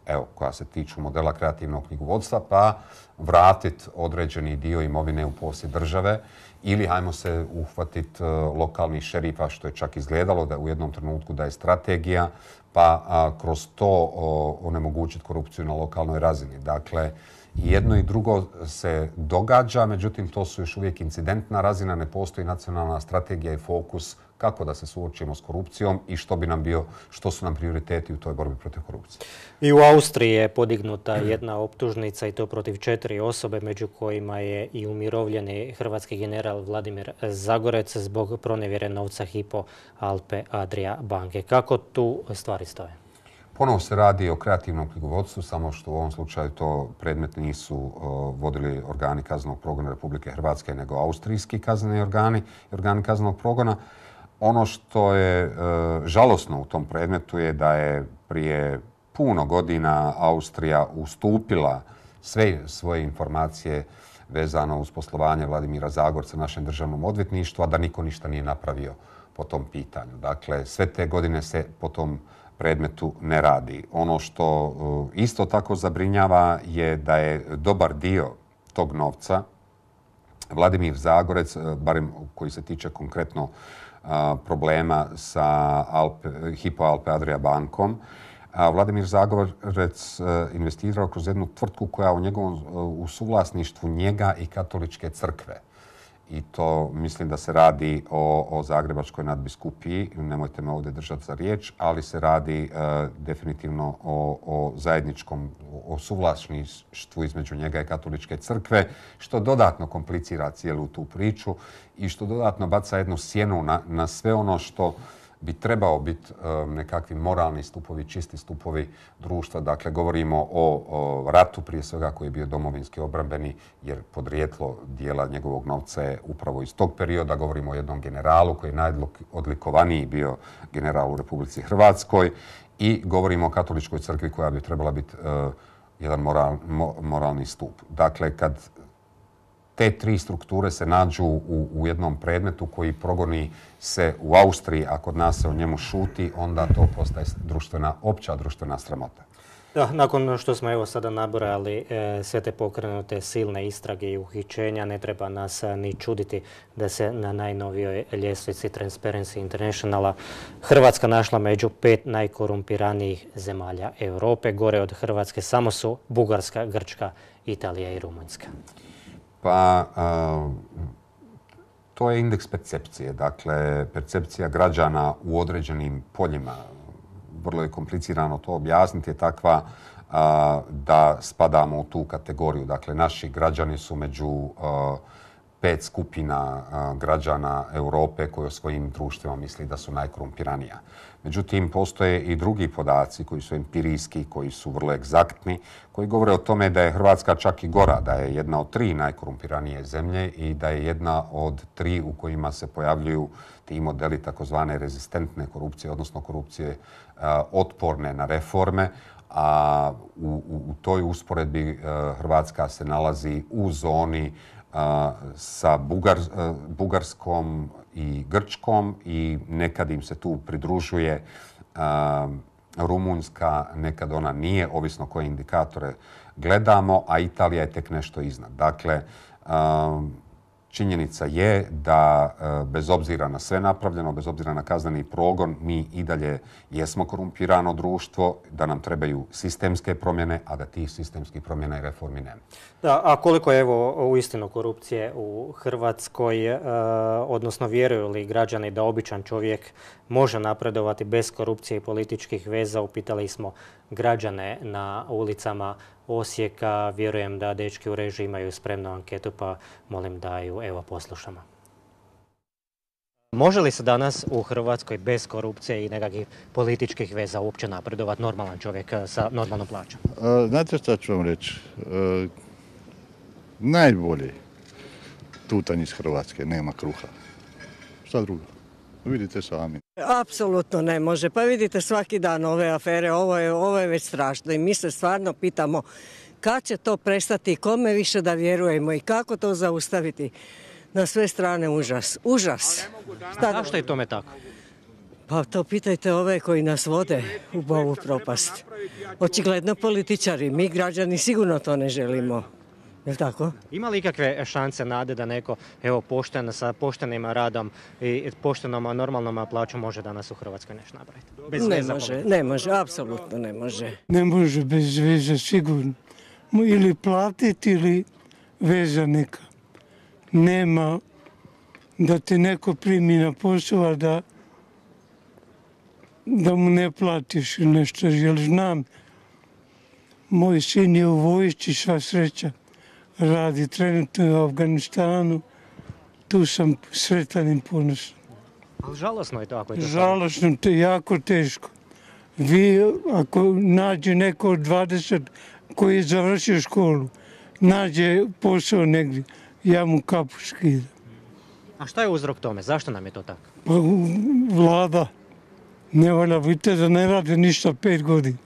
evo, koja se tiču modela kreativnog knjigovodstva, pa vratiti određeni dio imovine u posjed države ili hajmo se uhvatiti lokalnih šerifa, što je čak izgledalo da u jednom trenutku da je strategija, pa a, kroz to o, onemogućiti korupciju na lokalnoj razini. Dakle, jedno i drugo se događa, međutim to su još uvijek incidentna razina, ne postoji nacionalna strategija i fokus kako da se suočimo s korupcijom i što bi nam bio, što su nam prioriteti u toj borbi protiv korupcije. I u Austriji je podignuta jedna optužnica i to protiv četiri osobe, među kojima je i umirovljeni hrvatski general Vladimir Zagorec zbog pronevjere novca Hypo Alpe Adria banke. Kako tu stvari stoje? Ponovo se radi o kreativnom knjigovodstvu, samo što u ovom slučaju to predmet nisu uh, vodili organi kaznenog progona Republike Hrvatske, nego austrijski kazneni organi i organi kaznenog progona. Ono što je uh, žalosno u tom predmetu je da je prije puno godina Austrija ustupila sve svoje informacije vezano uz poslovanje Vladimira Zagorca našem državnom odvjetništvu, a da niko ništa nije napravio po tom pitanju. Dakle, sve te godine se po tom predmetu ne radi. Ono što isto tako zabrinjava je da je dobar dio tog novca Vladimir Zagorec, barem koji se tiče konkretno problema sa Alpe, Hypo Alpe Adria bankom, Vladimir Zagorec investirao kroz jednu tvrtku koja u njegovom u suvlasništvu njega i katoličke crkve. I to mislim da se radi o, o Zagrebačkoj nadbiskupiji, nemojte me ovdje držati za riječ, ali se radi e, definitivno o, o zajedničkom, o suvlasništvu između njega i katoličke crkve, što dodatno komplicira cijelu tu priču i što dodatno baca jednu sjenu na, na sve ono što bi trebao biti um, nekakvi moralni stupovi, čisti stupovi društva. Dakle, govorimo o, o ratu prije svega koji je bio domovinski obrambeni, jer podrijetlo dijela njegovog novca je upravo iz tog perioda. Govorimo o jednom generalu koji je najodlikovaniji bio general u Republici Hrvatskoj i govorimo o katoličkoj crkvi koja bi trebala biti uh, jedan moral, mo, moralni stup. Dakle, kad te tri strukture se nađu u, u jednom predmetu koji progoni se u Austriji, a kod nas se o njemu šuti, onda to postaje društvena, opća društvena sramota. Da, nakon što smo evo sada nabrojali e, sve te pokrenute silne istrage i uhićenja, ne treba nas a, ni čuditi da se na najnovijoj ljestvici Transparency Internationala Hrvatska našla među pet najkorumpiranijih zemalja Europe. Gore od Hrvatske samo su Bugarska, Grčka, Italija i Rumunjska. Pa uh, to je indeks percepcije, dakle percepcija građana u određenim poljima. Vrlo je komplicirano to objasniti, je takva uh, da spadamo u tu kategoriju. Dakle, naši građani su među uh, pet skupina građana Europe koje o svojim društvima misli da su najkorumpiranija. Međutim, postoje i drugi podaci koji su empirijski, koji su vrlo egzaktni, koji govore o tome da je Hrvatska čak i gora, da je jedna od tri najkorumpiranije zemlje i da je jedna od tri u kojima se pojavljuju ti modeli takozvane rezistentne korupcije, odnosno korupcije otporne na reforme, a u, u, u toj usporedbi Hrvatska se nalazi u zoni sa Bugar, Bugarskom i Grčkom i nekad im se tu pridružuje Rumunjska, nekad ona nije, ovisno koje indikatore gledamo, a Italija je tek nešto iznad. Dakle, činjenica je da bez obzira na sve napravljeno, bez obzira na kazneni progon, mi i dalje jesmo korumpirano društvo, da nam trebaju sistemske promjene, a da tih sistemskih promjena i reformi nema. Da, a koliko je evo uistinu korupcije u Hrvatskoj, e, odnosno vjeruju li građani da običan čovjek može napredovati bez korupcije i političkih veza? Upitali smo građane na ulicama Osijeka. Vjerujem da dečki u režiji imaju spremnu anketu, pa molim da ju evo poslušamo. Može li se danas u Hrvatskoj bez korupcije i nekakvih političkih veza uopće napredovati normalan čovjek sa normalnom plaćom? Znate šta ću vam reći? E, najbolje tutanj iz Hrvatske, nema kruha. Šta drugo? Vidite sami. Apsolutno ne može. Pa vidite svaki dan ove afere, ovo je, ovo je već strašno i mi se stvarno pitamo kad će to prestati, kome više da vjerujemo i kako to zaustaviti. Na sve strane užas. Užas. Šta zašto je tome tako? Pa to pitajte ove koji nas vode u ovu propast. Očigledno političari, mi građani sigurno to ne želimo. Je li tako? Ima li ikakve šanse, nade da neko evo, pošten, sa poštenim radom i poštenom normalnom plaćom može danas u Hrvatskoj nešto napraviti? Bez ne veza može, politička. ne može, apsolutno ne može. Ne može bez veze, sigurno. Ili platiti ili veza neka. Nema da te neko primi na posao, da, da mu ne platiš nešto. Jer znam, moj sin je u vojsci, sva sreća. Radi trenutno u Afganistanu. Tu sam sretan i ponosan. Ali žalosno je to ako je to. Žalosno, to je jako teško. Vi, ako nađe neko od dvadeset koji je završio školu, nađe posao negdje, ja mu kapu skidam. A šta je uzrok tome? Zašto nam je to tako? Pa vlada ne valja, vidite da ne rade ništa pet godina.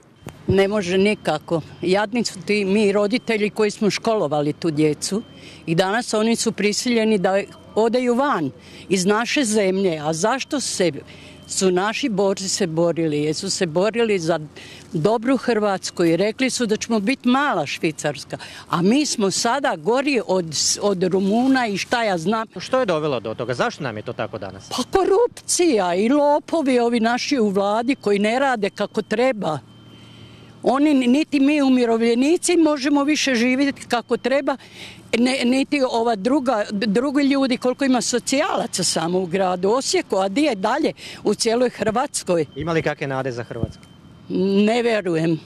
Ne može nikako. Jadni su ti mi roditelji koji smo školovali tu djecu i danas oni su prisiljeni da odaju van iz naše zemlje. A zašto se su naši borci se borili? Jer su se borili za dobru Hrvatsku i rekli su da ćemo biti mala Švicarska. A mi smo sada gori od, od Rumuna i šta ja znam. Što je dovelo do toga? Zašto nam je to tako danas? Pa korupcija i lopovi ovi naši u vladi koji ne rade kako treba. Oni, niti mi umirovljenici možemo više živjeti kako treba, ne, niti ova druga, drugi ljudi, koliko ima socijalaca samo u gradu Osijeku, a di je dalje u cijeloj Hrvatskoj. Ima li kakve nade za Hrvatsku? Ne vjerujem,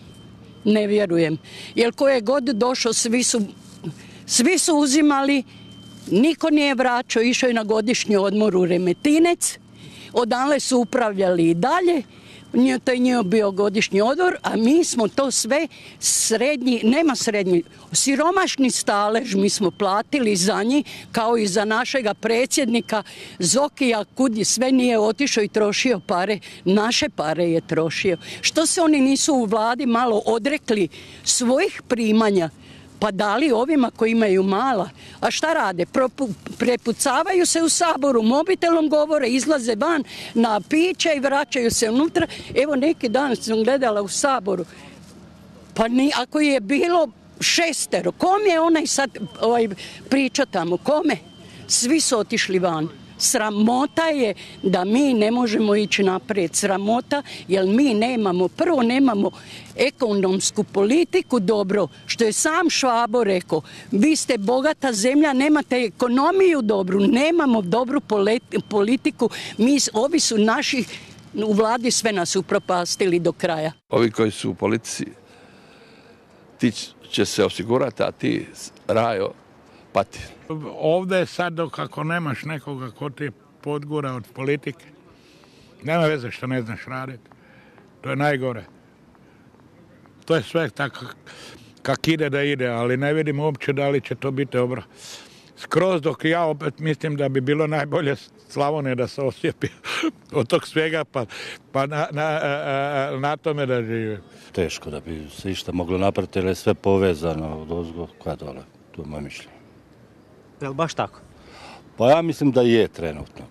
ne vjerujem. Jer ko je god došao, svi su, svi su uzimali, niko nije vraćao, išao je na godišnji odmor u Remetinec, odanle su upravljali i dalje. To je njih bio godišnji odmor, a mi smo to sve srednji, nema srednji, siromašni stalež mi smo platili za njih, kao i za našega predsjednika Zokija, kud sve nije otišao i trošio pare, naše pare je trošio. Što se oni nisu u vladi malo odrekli svojih primanja, pa dali ovima koji imaju mala. A šta rade? Propu, prepucavaju se u Saboru, mobitelom govore, izlaze van na piće i vraćaju se unutra. Evo neki dan sam gledala u Saboru, pa ni, ako je bilo šestero, kom je onaj sad ovaj, priča tamo, kome? Svi su otišli van. Sramota je da mi ne možemo ići naprijed. Sramota jer mi nemamo, prvo nemamo ekonomsku politiku dobro, što je sam Švabo rekao. Vi ste bogata zemlja, nemate ekonomiju dobru, nemamo dobru politiku. Mi, ovi su naši u vladi sve nas upropastili do kraja. Ovi koji su u politici, ti će se osigurati, a ti, Rajo, pati. Ovdje je sad dok ako nemaš nekoga ko ti podgura od politike, nema veze što ne znaš raditi. To je najgore. To je sve tako kak ide da ide, ali ne vidim uopće da li će to biti dobro. Skroz dok ja opet mislim da bi bilo najbolje Slavonije da se osjepi od tog svega pa, pa na, na, na tome da žive. Teško da bi se išta moglo napraviti jer je sve povezano od ozgo koja dole. To je moje mišljenje. Je li baš tako? Pa ja mislim da je trenutno.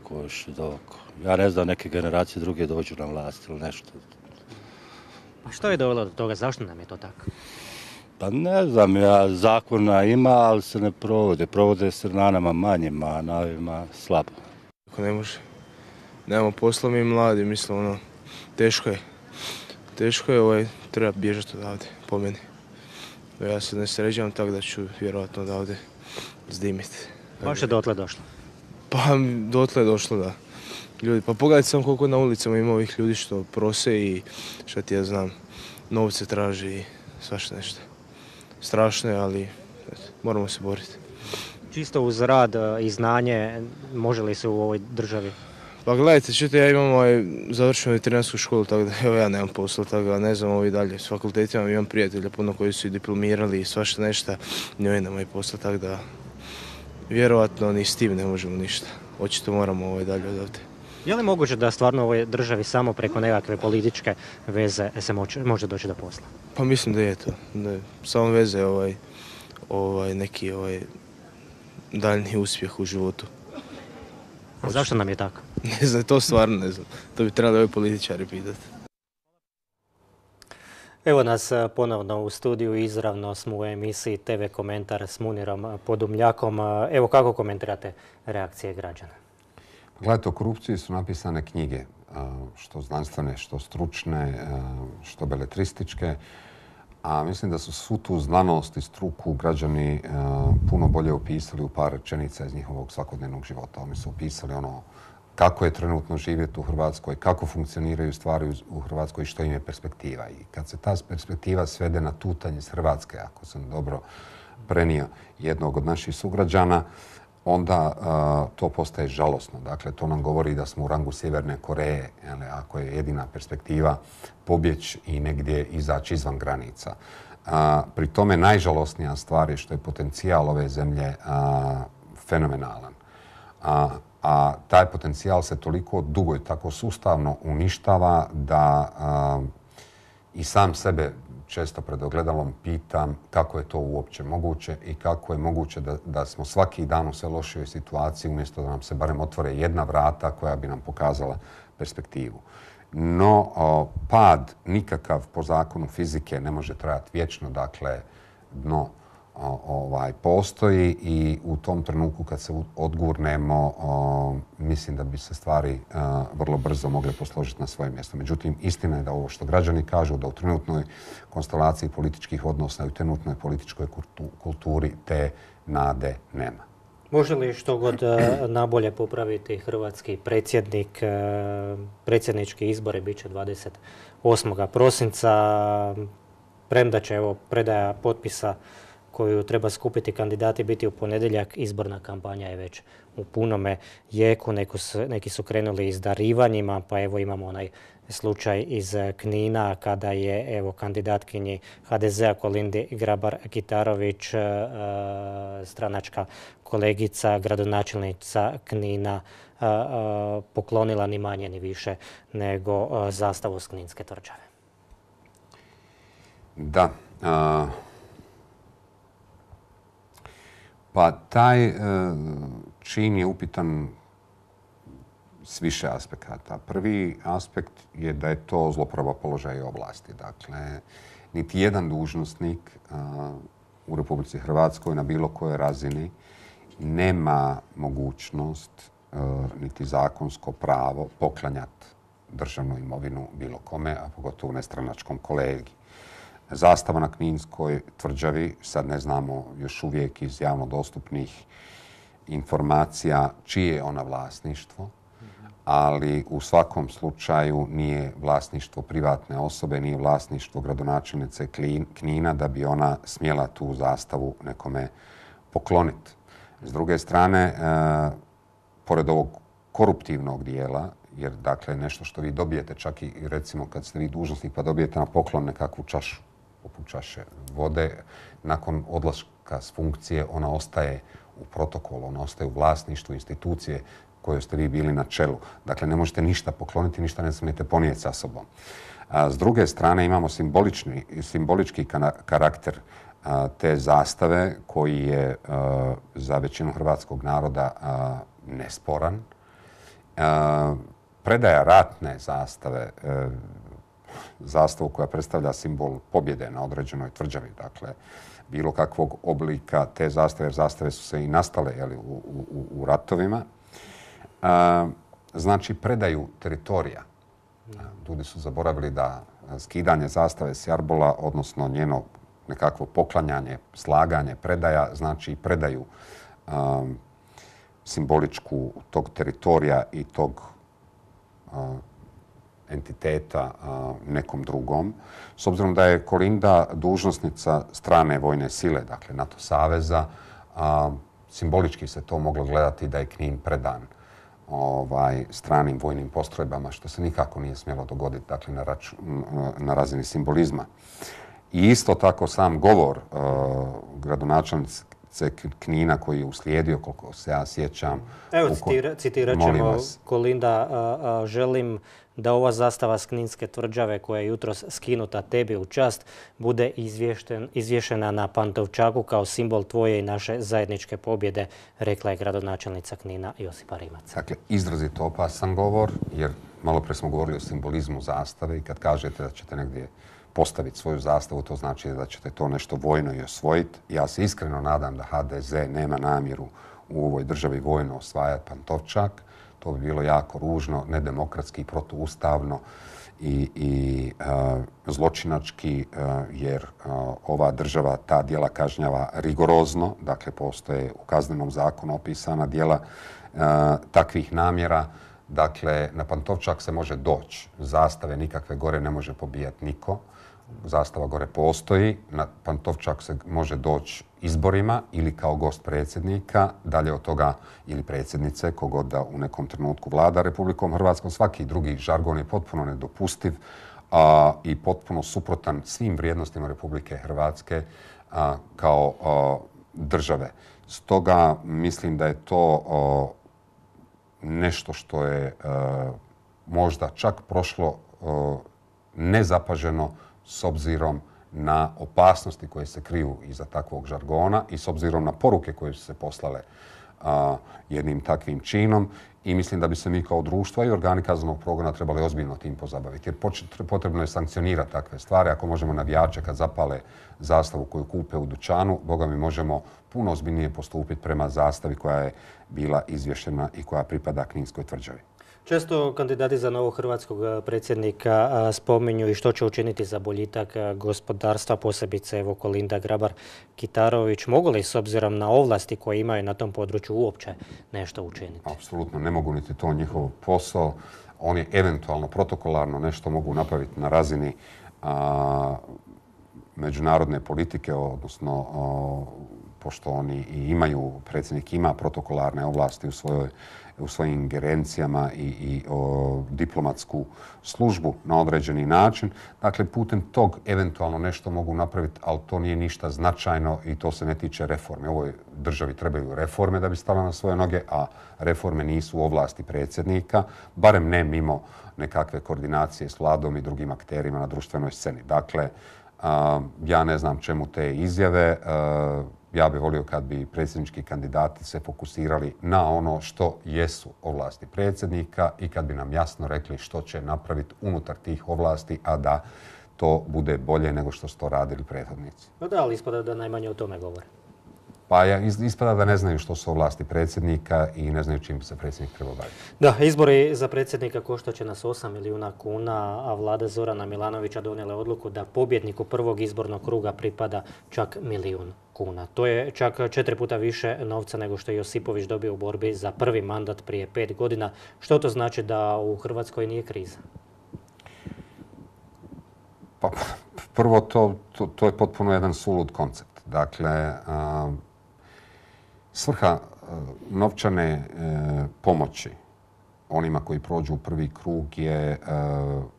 Ja ne znam, neke generacije druge dođu na vlast ili nešto. Pa što je dovelo do toga? Zašto nam je to tako? Pa ne znam, ja, zakona ima, ali se ne provode. Provode se na nama manjima, a na ovima slabo. Ako ne može, nemamo posla mi mladi, mislim, ono, teško je. Teško je, ovaj, treba bježati odavde, po meni. Ja se ne sređavam tako da ću vjerojatno odavde zdimiti. Baš je dotle došlo? Pa dotle je došlo, da. Ljudi, pa pogledajte samo koliko na ulicama ima ovih ljudi što prose i šta ti ja znam, novce traži i svašta nešto. Strašno je, ali eto, moramo se boriti. Čisto uz rad i znanje, može li se u ovoj državi? Pa gledajte, čujte, ja imam ovaj, završenu veterinarsku školu, tako da evo ja nemam posla, tako da ne znam ovi dalje. S fakultetima imam prijatelja puno koji su i diplomirali i svašta nešto, njoj nema i posla, tako da vjerovatno ni s tim ne možemo ništa. Očito moramo ovaj dalje odavde. Je li moguće da stvarno u ovoj državi samo preko nekakve političke veze se moće, može doći do posla? Pa mislim da je to. Da je samo veze ovaj, ovaj, neki ovaj, daljni uspjeh u životu. A zašto nam je tako? Ne znam, to stvarno ne znam. To bi trebali ovi političari pitati. Evo nas ponovno u studiju, izravno smo u emisiji te ve Komentar s Munirom Podumljakom. Evo kako komentirate reakcije građana? Gledajte, o korupciji su napisane knjige, što znanstvene, što stručne, što beletrističke, a mislim da su svu tu znanost i struku građani puno bolje opisali u par rečenica iz njihovog svakodnevnog života. Oni su opisali ono kako je trenutno živjeti u Hrvatskoj, kako funkcioniraju stvari u Hrvatskoj i što im je perspektiva. I kad se ta perspektiva svede na tutanje iz Hrvatske, ako sam dobro prenio jednog od naših sugrađana, onda uh, to postaje žalosno. Dakle, to nam govori da smo u rangu Sjeverne Koreje, jel, ako je jedina perspektiva pobjeći i negdje izaći izvan granica. Uh, pri tome najžalosnija stvar je što je potencijal ove zemlje uh, fenomenalan. A, a taj potencijal se toliko dugo i tako sustavno uništava da uh, i sam sebe često pred ogledalom pitam kako je to uopće moguće i kako je moguće da, da smo svaki dan u sve lošijoj situaciji umjesto da nam se barem otvore jedna vrata koja bi nam pokazala perspektivu. No, o, pad nikakav po zakonu fizike ne može trajati vječno, dakle, dno o, ovaj, postoji i u tom trenutku kad se odgurnemo, o, mislim da bi se stvari a, vrlo brzo mogle posložiti na svoje mjesto. Međutim, istina je da ovo što građani kažu, da u trenutnoj konstelaciji političkih odnosa i u trenutnoj političkoj kulturi te nade nema. Može li što god nabolje popraviti hrvatski predsjednik? Predsjednički izbori bit će dvadeset osmog prosinca. Premda će evo predaja potpisa koju treba skupiti kandidati biti u ponedjeljak, izborna kampanja je već u punome jeku. Neki su, neki su krenuli s darivanjima, pa evo imamo onaj slučaj iz Knina kada je evo kandidatkinji ha de zea Kolindi Grabar-Kitarović, stranačka kolegica, gradonačelnica Knina, poklonila ni manje ni više nego zastavu s Kninske tvrđave. Da. A... Pa taj e, čin je upitan s više aspekata. Prvi aspekt je da je to zloporaba položaja i ovlasti. Dakle, niti jedan dužnosnik a, u Republici Hrvatskoj na bilo kojoj razini nema mogućnost a, niti zakonsko pravo poklanjati državnu imovinu bilo kome, a pogotovo nestranačkom kolegi. Zastava na Kninskoj tvrđavi, sad ne znamo još uvijek iz javno dostupnih informacija čije je ona vlasništvo, ali u svakom slučaju nije vlasništvo privatne osobe, nije vlasništvo gradonačelnice Knina da bi ona smjela tu zastavu nekome pokloniti. S druge strane, pored ovog koruptivnog dijela, jer dakle nešto što vi dobijete čak i recimo kad ste vi dužnosnik pa dobijete na poklon nekakvu čašu, poput čaše vode, nakon odlaska s funkcije ona ostaje u protokolu, ona ostaje u vlasništvu institucije kojoj ste vi bili na čelu. Dakle, ne možete ništa pokloniti, ništa ne smijete ponijeti sa sobom. A s druge strane imamo simbolički karakter te zastave koji je za većinu hrvatskog naroda nesporan. Predaja ratne zastave, zastavu koja predstavlja simbol pobjede na određenoj tvrđavi, dakle, bilo kakvog oblika te zastave, jer zastave su se i nastale jeli, u, u, u ratovima, znači predaju teritorija. Ljudi su zaboravili da skidanje zastave s jarbola, odnosno njeno nekakvo poklanjanje, slaganje, predaja, znači predaju um, simboličku tog teritorija i tog uh, entiteta uh, nekom drugom. S obzirom da je Kolinda dužnosnica strane vojne sile, dakle NATO saveza, uh, simbolički se to moglo gledati da je Knin predan ovaj, stranim vojnim postrojbama, što se nikako nije smjelo dogoditi, dakle na, raču, na razini simbolizma. I isto tako sam govor uh, gradonačelnice Knina koji je uslijedio, koliko se ja sjećam. Evo, citira, citirat ćemo Kolinda, uh, uh, želim da ova zastava s Kninske tvrđave koja je jutros skinuta tebi u čast bude izvješena na Pantovčaku kao simbol tvoje i naše zajedničke pobjede, rekla je gradonačelnica Knina Josipa Rimac. Dakle, izrazito opasan govor, jer malo pre smo govorili o simbolizmu zastave i kad kažete da ćete negdje postaviti svoju zastavu, to znači da ćete to nešto vojno i osvojiti. Ja se iskreno nadam da ha de ze nema namjeru u ovoj državi vojno osvajati Pantovčak. To bi bilo jako ružno, nedemokratski, protuustavno i, i uh, zločinački, uh, jer uh, ova država ta djela kažnjava rigorozno. Dakle, postoje u kaznenom zakonu opisana djela uh, takvih namjera. Dakle, na Pantovčak se može doći. Zastave nikakve gore ne može pobijati niko. Zastava gore postoji. Na Pantovčak se može doći izborima ili kao gost predsjednika. Dalje od toga ili predsjednice, kogod da u nekom trenutku vlada Republikom Hrvatskom. Svaki drugi žargon je potpuno nedopustiv a, i potpuno suprotan svim vrijednostima Republike Hrvatske a, kao a, države. Stoga mislim da je to a, nešto što je a, možda čak prošlo a, nezapaženo s obzirom na opasnosti koje se kriju iza takvog žargona i s obzirom na poruke koje su se poslale a, jednim takvim činom. I mislim da bi se mi kao društvo i organi kaznenog progona trebali ozbiljno tim pozabaviti. Jer potrebno je sankcionirati takve stvari. Ako možemo navijače kad zapale zastavu koju kupe u dućanu, boga mi možemo puno ozbiljnije postupiti prema zastavi koja je bila izvješena i koja pripada Kninskoj tvrđavi. Često kandidati za novog hrvatskog predsjednika spominju i što će učiniti za boljitak gospodarstva, posebice evo Kolinda Grabar-Kitarović. Mogu li s obzirom na ovlasti koje imaju na tom području uopće nešto učiniti? Apsolutno ne mogu, niti to njihov posao. Oni eventualno protokolarno nešto mogu napraviti na razini a, međunarodne politike, odnosno a, pošto oni i imaju, predsjednik ima protokolarne ovlasti u svojoj u svojim ingerencijama i, i o, diplomatsku službu na određeni način. Dakle, putem tog eventualno nešto mogu napraviti, ali to nije ništa značajno i to se ne tiče reforme. Ovoj državi trebaju reforme da bi stala na svoje noge, a reforme nisu u ovlasti predsjednika, barem ne mimo nekakve koordinacije s vladom i drugim akterima na društvenoj sceni. Dakle, a, ja ne znam čemu te izjave. A, Ja bih volio kad bi predsjednički kandidati se fokusirali na ono što jesu ovlasti predsjednika i kad bi nam jasno rekli što će napraviti unutar tih ovlasti, a da to bude bolje nego što su to radili prethodnici. No da, ali ispada da najmanje o tome govore. Pa ja, ispada da ne znaju što su ovlasti predsjednika i ne znaju čim se predsjednik treba baviti. Da, izbori za predsjednika koštat će nas osam milijuna kuna, a vlada Zorana Milanovića donijela odluku da pobjedniku prvog izbornog kruga pripada čak milijun kuna. To je čak četiri puta više novca nego što je Josipović dobio u borbi za prvi mandat prije pet godina. Što to znači da u Hrvatskoj nije kriza? Pa, prvo, to, to, to je potpuno jedan sulud koncept. Dakle, a, svrha novčane e, pomoći onima koji prođu u prvi krug je e,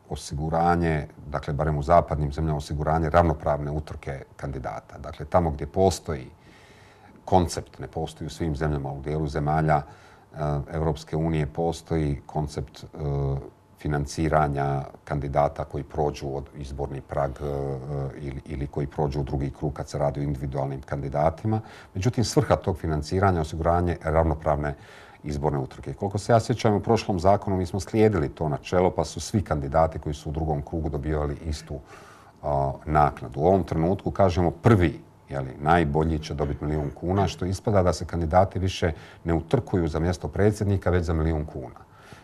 osiguranje, dakle barem u zapadnim zemljama, osiguranje ravnopravne utrke kandidata. Dakle, tamo gdje postoji koncept, ne postoji u svim zemljama, u dijelu zemalja Europske unije postoji koncept e, financiranja kandidata koji prođu od izborni prag e, ili, ili koji prođu u drugi krug kad se radi o individualnim kandidatima. Međutim, svrha tog financiranja je osiguranje ravnopravne izborne utrke. Koliko se ja sjećam, u prošlom zakonu mi smo slijedili to načelo, pa su svi kandidati koji su u drugom krugu dobivali istu a, naknadu. U ovom trenutku kažemo prvi, jeli, najbolji će dobiti milijun kuna, što ispada da se kandidati više ne utrkuju za mjesto predsjednika, već za milijun kuna.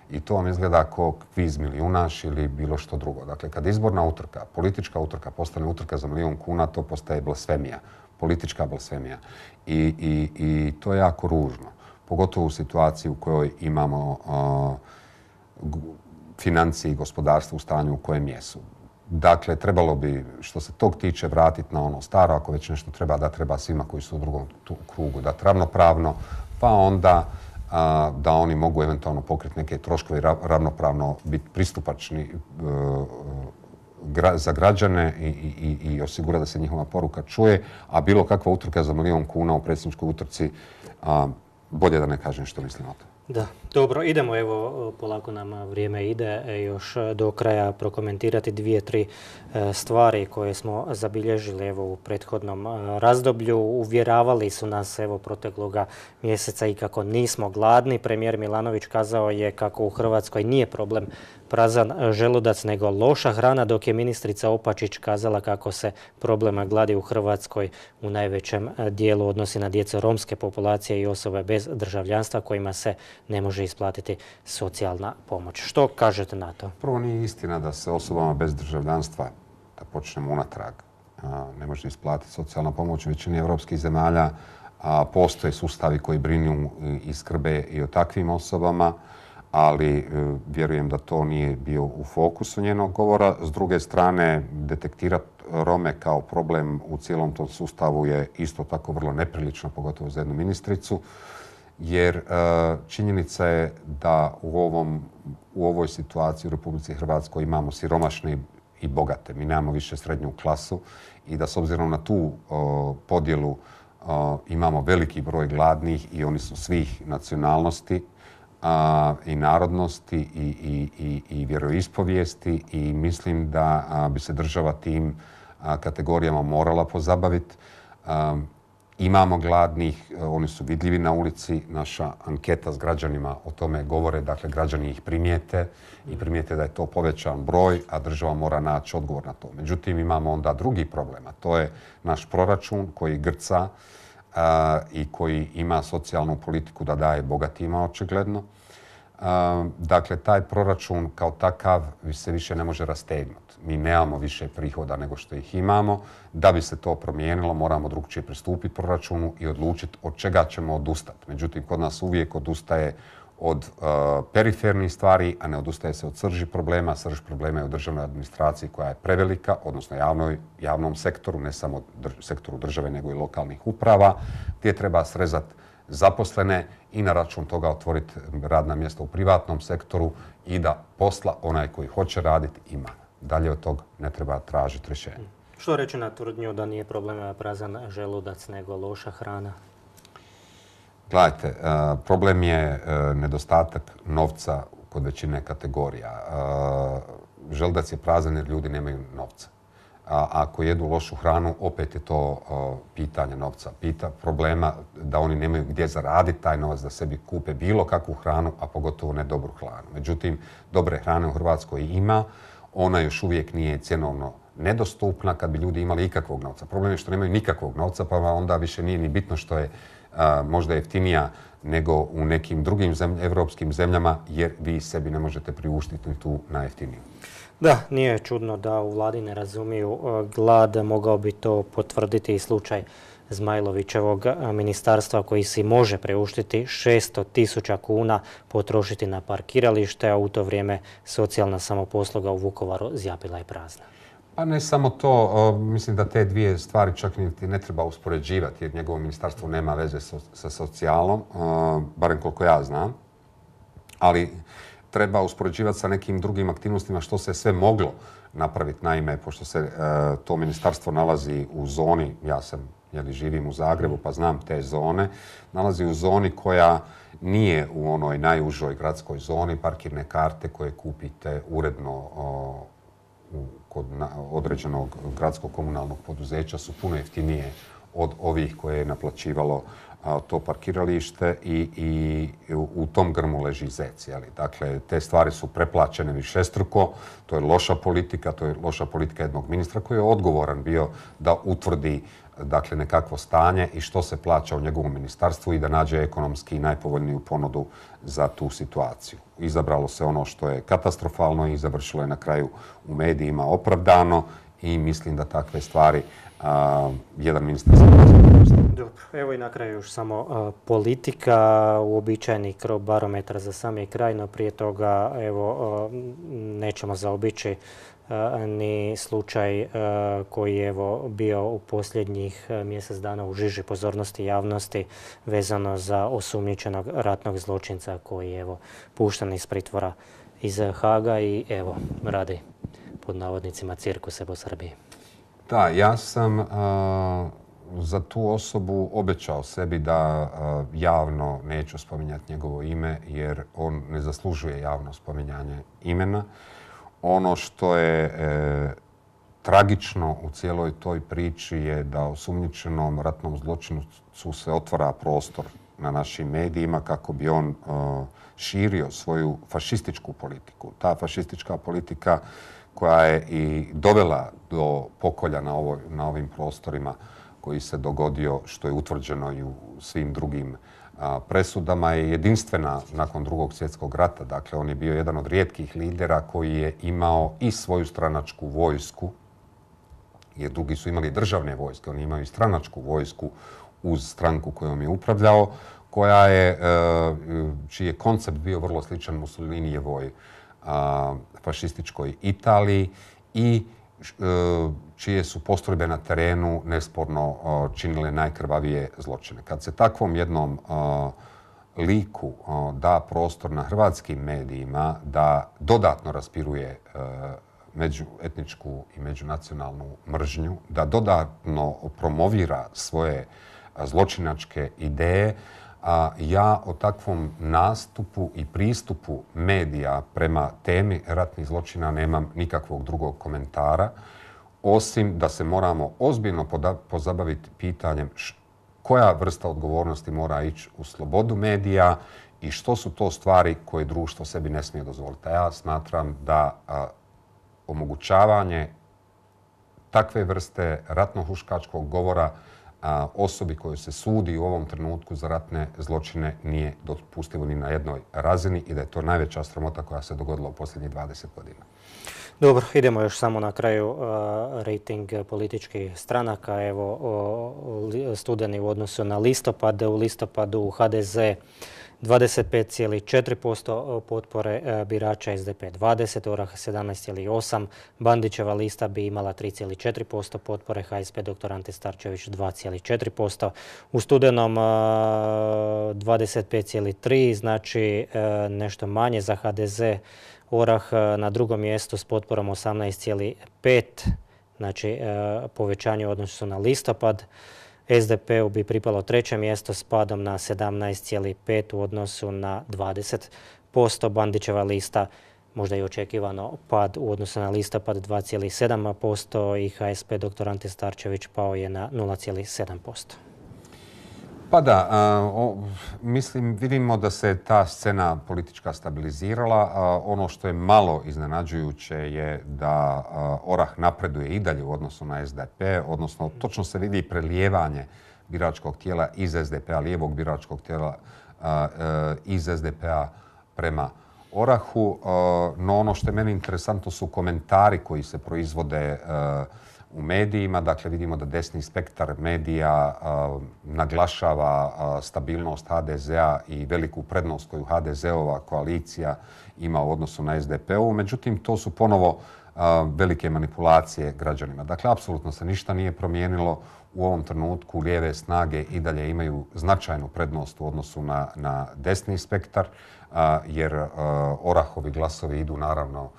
I to vam izgleda kao kviz milijunaš ili bilo što drugo. Dakle, kad izborna utrka, politička utrka postane utrka za milijun kuna, to postaje blasfemija, politička blasfemija. I, i, i to je jako ružno. Pogotovo u situaciji u kojoj imamo uh, financije i gospodarstvo u stanju u kojem jesu. Dakle, trebalo bi, što se tog tiče, vratiti na ono staro, ako već nešto treba, da treba svima koji su u drugom krugu dati ravnopravno, pa onda a, da oni mogu eventualno pokriti neke troškove i ravnopravno biti pristupačni uh, gra, za građane i, i, i osigura da se njihova poruka čuje, a bilo kakva utrka za milijun kuna u predsjedničkoj utrci, a, bolje da ne kažem što mislim o tome. Da, dobro, idemo, evo, polako nam vrijeme ide, još do kraja prokomentirati dvije, tri stvari koje smo zabilježili evo u prethodnom razdoblju. Uvjeravali su nas evo protekloga mjeseca i kako nismo gladni. Premijer Milanović kazao je kako u Hrvatskoj nije problem prazan želudac nego loša hrana, dok je ministrica Opačić kazala kako se problema gladi u Hrvatskoj u najvećem dijelu odnosi na djecu romske populacije i osobe bez državljanstva kojima se ne može isplatiti socijalna pomoć. Što kažete na to? Prvo, nije istina da se osobama bez državljanstva, da počnemo unatrag, ne može isplatiti socijalna pomoć. U većini evropskih zemalja postoje sustavi koji brinu i skrbe i o takvim osobama, ali vjerujem da to nije bio u fokusu njenog govora. S druge strane, detektirati Rome kao problem u cijelom tom sustavu je isto tako vrlo neprilično, pogotovo za jednu ministricu, jer činjenica je da u, ovom, u ovoj situaciji u Republici Hrvatskoj imamo siromašne i bogate. Mi nemamo više srednju klasu i da s obzirom na tu o, podjelu o, imamo veliki broj gladnih i oni su svih nacionalnosti a, i narodnosti i, i, i, i vjeroispovijesti i mislim da a, bi se država tim a, kategorijama morala pozabaviti. A, Imamo gladnih, oni su vidljivi na ulici, naša anketa s građanima o tome govore, dakle građani ih primijete i primijete da je to povećan broj, a država mora naći odgovor na to. Međutim, imamo onda drugi problem, a to je naš proračun koji grca a, i koji ima socijalnu politiku da daje bogatima očigledno. A, dakle, taj proračun kao takav se više ne može rastegnuti. Mi nemamo više prihoda nego što ih imamo. Da bi se to promijenilo, moramo drugčije pristupiti proračunu i odlučiti od čega ćemo odustati. Međutim, kod nas uvijek odustaje od uh, perifernih stvari, a ne odustaje se od srži problema. Srž problema je u državnoj administraciji koja je prevelika, odnosno javnoj, javnom sektoru, ne samo drž sektoru države, nego i lokalnih uprava, gdje treba srezati zaposlene i na račun toga otvoriti radna mjesta u privatnom sektoru i da posla onaj koji hoće raditi ima. Dalje od tog ne treba tražiti rješenje. Što reći na tvrdnju da nije problem prazan želudac nego loša hrana? Gledajte, problem je nedostatak novca kod većine kategorija. Želudac je prazan jer ljudi nemaju novca. A ako jedu lošu hranu, opet je to pitanje novca. Pita problema da oni nemaju gdje zaraditi taj novac da sebi kupe bilo kakvu hranu, a pogotovo ne dobru hranu. Međutim, dobre hrane u Hrvatskoj ima. Ona još uvijek nije cjenovno nedostupna kad bi ljudi imali ikakvog novca. Problem je što nemaju nikakvog novca, pa onda više nije ni bitno što je a, možda jeftinija nego u nekim drugim zemlj, evropskim zemljama, jer vi sebi ne možete priuštiti tu najjeftiniju. Da, nije čudno da u vladi ne razumiju glad. Mogao bi to potvrditi i slučaj Zmajlovićevog ministarstva koji si može priuštiti šesto tisuća kuna potrošiti na parkiralište, a u to vrijeme socijalna samoposluga u Vukovaru zjapila je prazna. Pa ne samo to, mislim da te dvije stvari čak niti ne treba uspoređivati jer njegovo ministarstvo nema veze sa socijalom, barem koliko ja znam, ali treba uspoređivati sa nekim drugim aktivnostima što se sve moglo napraviti. Naime, pošto se to ministarstvo nalazi u zoni, ja sam, jeli živim u Zagrebu pa znam te zone, nalazi u zoni koja nije u onoj najužoj gradskoj zoni, parkirne karte koje kupite uredno kod određenog gradskog komunalnog poduzeća su puno jeftinije od ovih koje je naplaćivalo to parkiralište i, i u tom grmu leži zec. Jeli. Dakle, te stvari su preplaćene višestruko, to je loša politika, to je loša politika jednog ministra koji je odgovoran bio da utvrdi dakle, nekakvo stanje i što se plaća u njegovom ministarstvu i da nađe ekonomski najpovoljniju ponudu za tu situaciju. Izabralo se ono što je katastrofalno i završilo je na kraju u medijima opravdano i mislim da takve stvari a, jedan ministar se Dobro, evo i na kraju još samo a, politika, uobičajeni barometar za sami kraj, no prije toga evo a, nećemo zaobići ni slučaj koji je evo bio u posljednjih mjesec dana u žiži pozornosti javnosti vezano za osumnjičenog ratnog zločinca koji je evo pušten iz pritvora iz Haga i evo radi pod navodnicima cirkuse po Srbiji. Da, ja sam uh, za tu osobu obećao sebi da uh, javno neću spominjati njegovo ime jer on ne zaslužuje javno spominjanje imena. Ono što je e, tragično u cijeloj toj priči je da osumnjičenom ratnom zločincu se otvara prostor na našim medijima kako bi on e, širio svoju fašističku politiku. Ta fašistička politika koja je i dovela do pokolja na, ovoj, na ovim prostorima koji se dogodio, što je utvrđeno i u svim drugim presudama, je jedinstvena nakon drugog svjetskog rata. Dakle, on je bio jedan od rijetkih lidera koji je imao i svoju stranačku vojsku, jer drugi su imali državne vojske, oni imaju i stranačku vojsku uz stranku kojom je upravljao, koja je, čiji je koncept bio vrlo sličan Mussolinijevoj fašističkoj Italiji i čije su postrojbe na terenu nesporno činile najkrvavije zločine. Kad se takvom jednom liku da prostor na hrvatskim medijima da dodatno raspiruje međuetničku i međunacionalnu mržnju, da dodatno promovira svoje zločinačke ideje, a ja o takvom nastupu i pristupu medija prema temi ratnih zločina nemam nikakvog drugog komentara, osim da se moramo ozbiljno pozabaviti pitanjem koja vrsta odgovornosti mora ići u slobodu medija i što su to stvari koje društvo sebi ne smije dozvoliti. A ja smatram da a, omogućavanje takve vrste ratno-huškačkog govora a, osobi koju se sudi u ovom trenutku za ratne zločine nije dopustivo ni na jednoj razini i da je to najveća sramota koja se dogodila u posljednjih dvadeset godina. Dobro, idemo još samo na kraju uh, rating političkih stranaka. Evo, uh, studeni u odnosu na listopad. U listopadu u ha de ze dvadeset pet zarez četiri posto potpore uh, birača, es de pe dvadeset, Orah sedamnaest zarez osam, Bandićeva lista bi imala tri zarez četiri posto potpore, ha es pe doktor Ante Starčević dva zarez četiri posto. U studenom uh, dvadeset pet zarez tri, znači uh, nešto manje za ha de ze. Orah na drugom mjestu s potporom osamnaest zarez pet, znači povećanje u odnosu na listopad. es de pe-u bi pripalo treće mjesto s padom na sedamnaest zarez pet u odnosu na dvadeset posto. Bandićeva lista možda i očekivano pad u odnosu na listopad dva zarez sedam posto i ha es pe doktor Ante Starčević pao je na nula zarez sedam posto. Pa da, a, o, mislim, vidimo da se ta scena politička stabilizirala. A, ono što je malo iznenađujuće je da a, Orah napreduje i dalje u odnosu na es de pe, odnosno točno se vidi prelijevanje biračkog tijela iz es de pe-a, lijevog biračkog tijela a, a, iz es de pe-a prema Orahu. A, no ono što je meni interesantno su komentari koji se proizvode a, u medijima. Dakle, vidimo da desni spektar medija naglašava stabilnost ha de zea i veliku prednost koju ha de zeova koalicija ima u odnosu na es de pe ovu. Međutim, to su ponovo velike manipulacije građanima. Dakle, apsolutno se ništa nije promijenilo. U ovom trenutku lijeve snage i dalje imaju značajnu prednost u odnosu na, na desni spektar, jer Orahovi glasovi idu naravno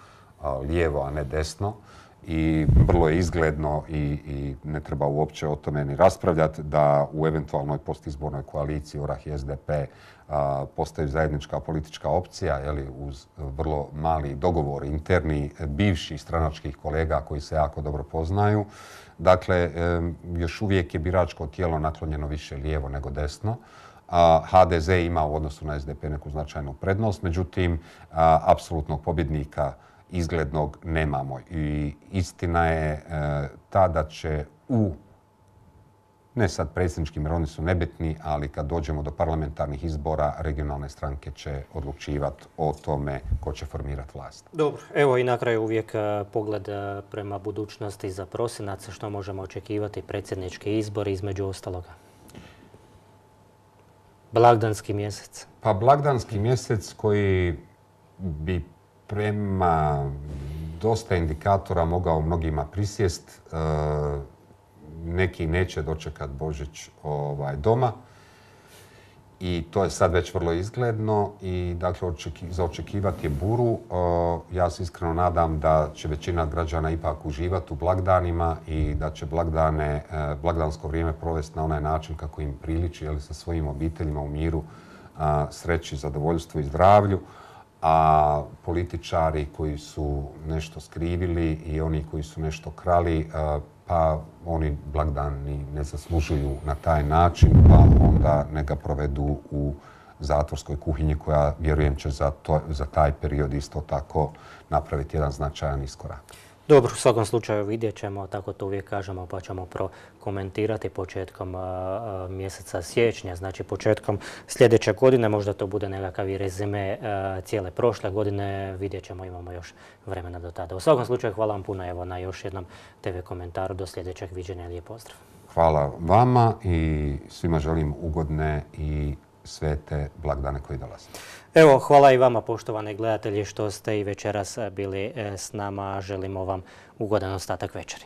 lijevo, a ne desno. I vrlo je izgledno i, i ne treba uopće o tome ni raspravljati da u eventualnoj postizbornoj koaliciji Orah i es de pe a, postaju zajednička politička opcija, jeli, uz vrlo mali dogovor interni bivših stranačkih kolega koji se jako dobro poznaju. Dakle, e, još uvijek je biračko tijelo naklonjeno više lijevo nego desno. A, ha de ze ima u odnosu na es de pe neku značajnu prednost, međutim, a, apsolutnog pobjednika izglednog nemamo. I istina je e, ta da će u, ne sad predsjedničkim jer oni su nebitni, ali kad dođemo do parlamentarnih izbora, regionalne stranke će odlučivati o tome ko će formirati vlast. Dobro, evo i na kraju uvijek pogled prema budućnosti za prosinac, što možemo očekivati predsjednički izbori između ostaloga. Blagdanski mjesec. Pa blagdanski mjesec koji bi prema dosta indikatora mogao mnogima prisjest. E, neki neće dočekati Božić ovaj, doma i to je sad već vrlo izgledno i dakle očeki, za očekivati je buru. E, ja se iskreno nadam da će većina građana ipak uživati u blagdanima i da će blagdane, e, blagdansko vrijeme provesti na onaj način kako im priliči, jeli, sa svojim obiteljima u miru, a, sreći, zadovoljstvu i zdravlju. A političari koji su nešto skrivili i oni koji su nešto krali, pa oni blagdani ne zaslužuju na taj način, pa onda neka provedu u zatvorskoj kuhinji koja, vjerujem, će za, to, za taj period isto tako napraviti jedan značajan iskorak. Dobro, u svakom slučaju vidjet ćemo, tako to uvijek kažemo, pa ćemo prokomentirati početkom a, mjeseca siječnja, znači početkom sljedeće godine, možda to bude nekakav i rezime a, cijele prošle godine, vidjet ćemo, imamo još vremena do tada. U svakom slučaju hvala vam puno evo, na još jednom te ve komentaru, do sljedećeg viđenja, lijep pozdrav. Hvala vama i svima želim ugodne i svete blagdane koji dolaze. Evo, hvala i vama poštovani gledatelji što ste i večeras bili s nama. Želimo vam ugodan ostatak večeri.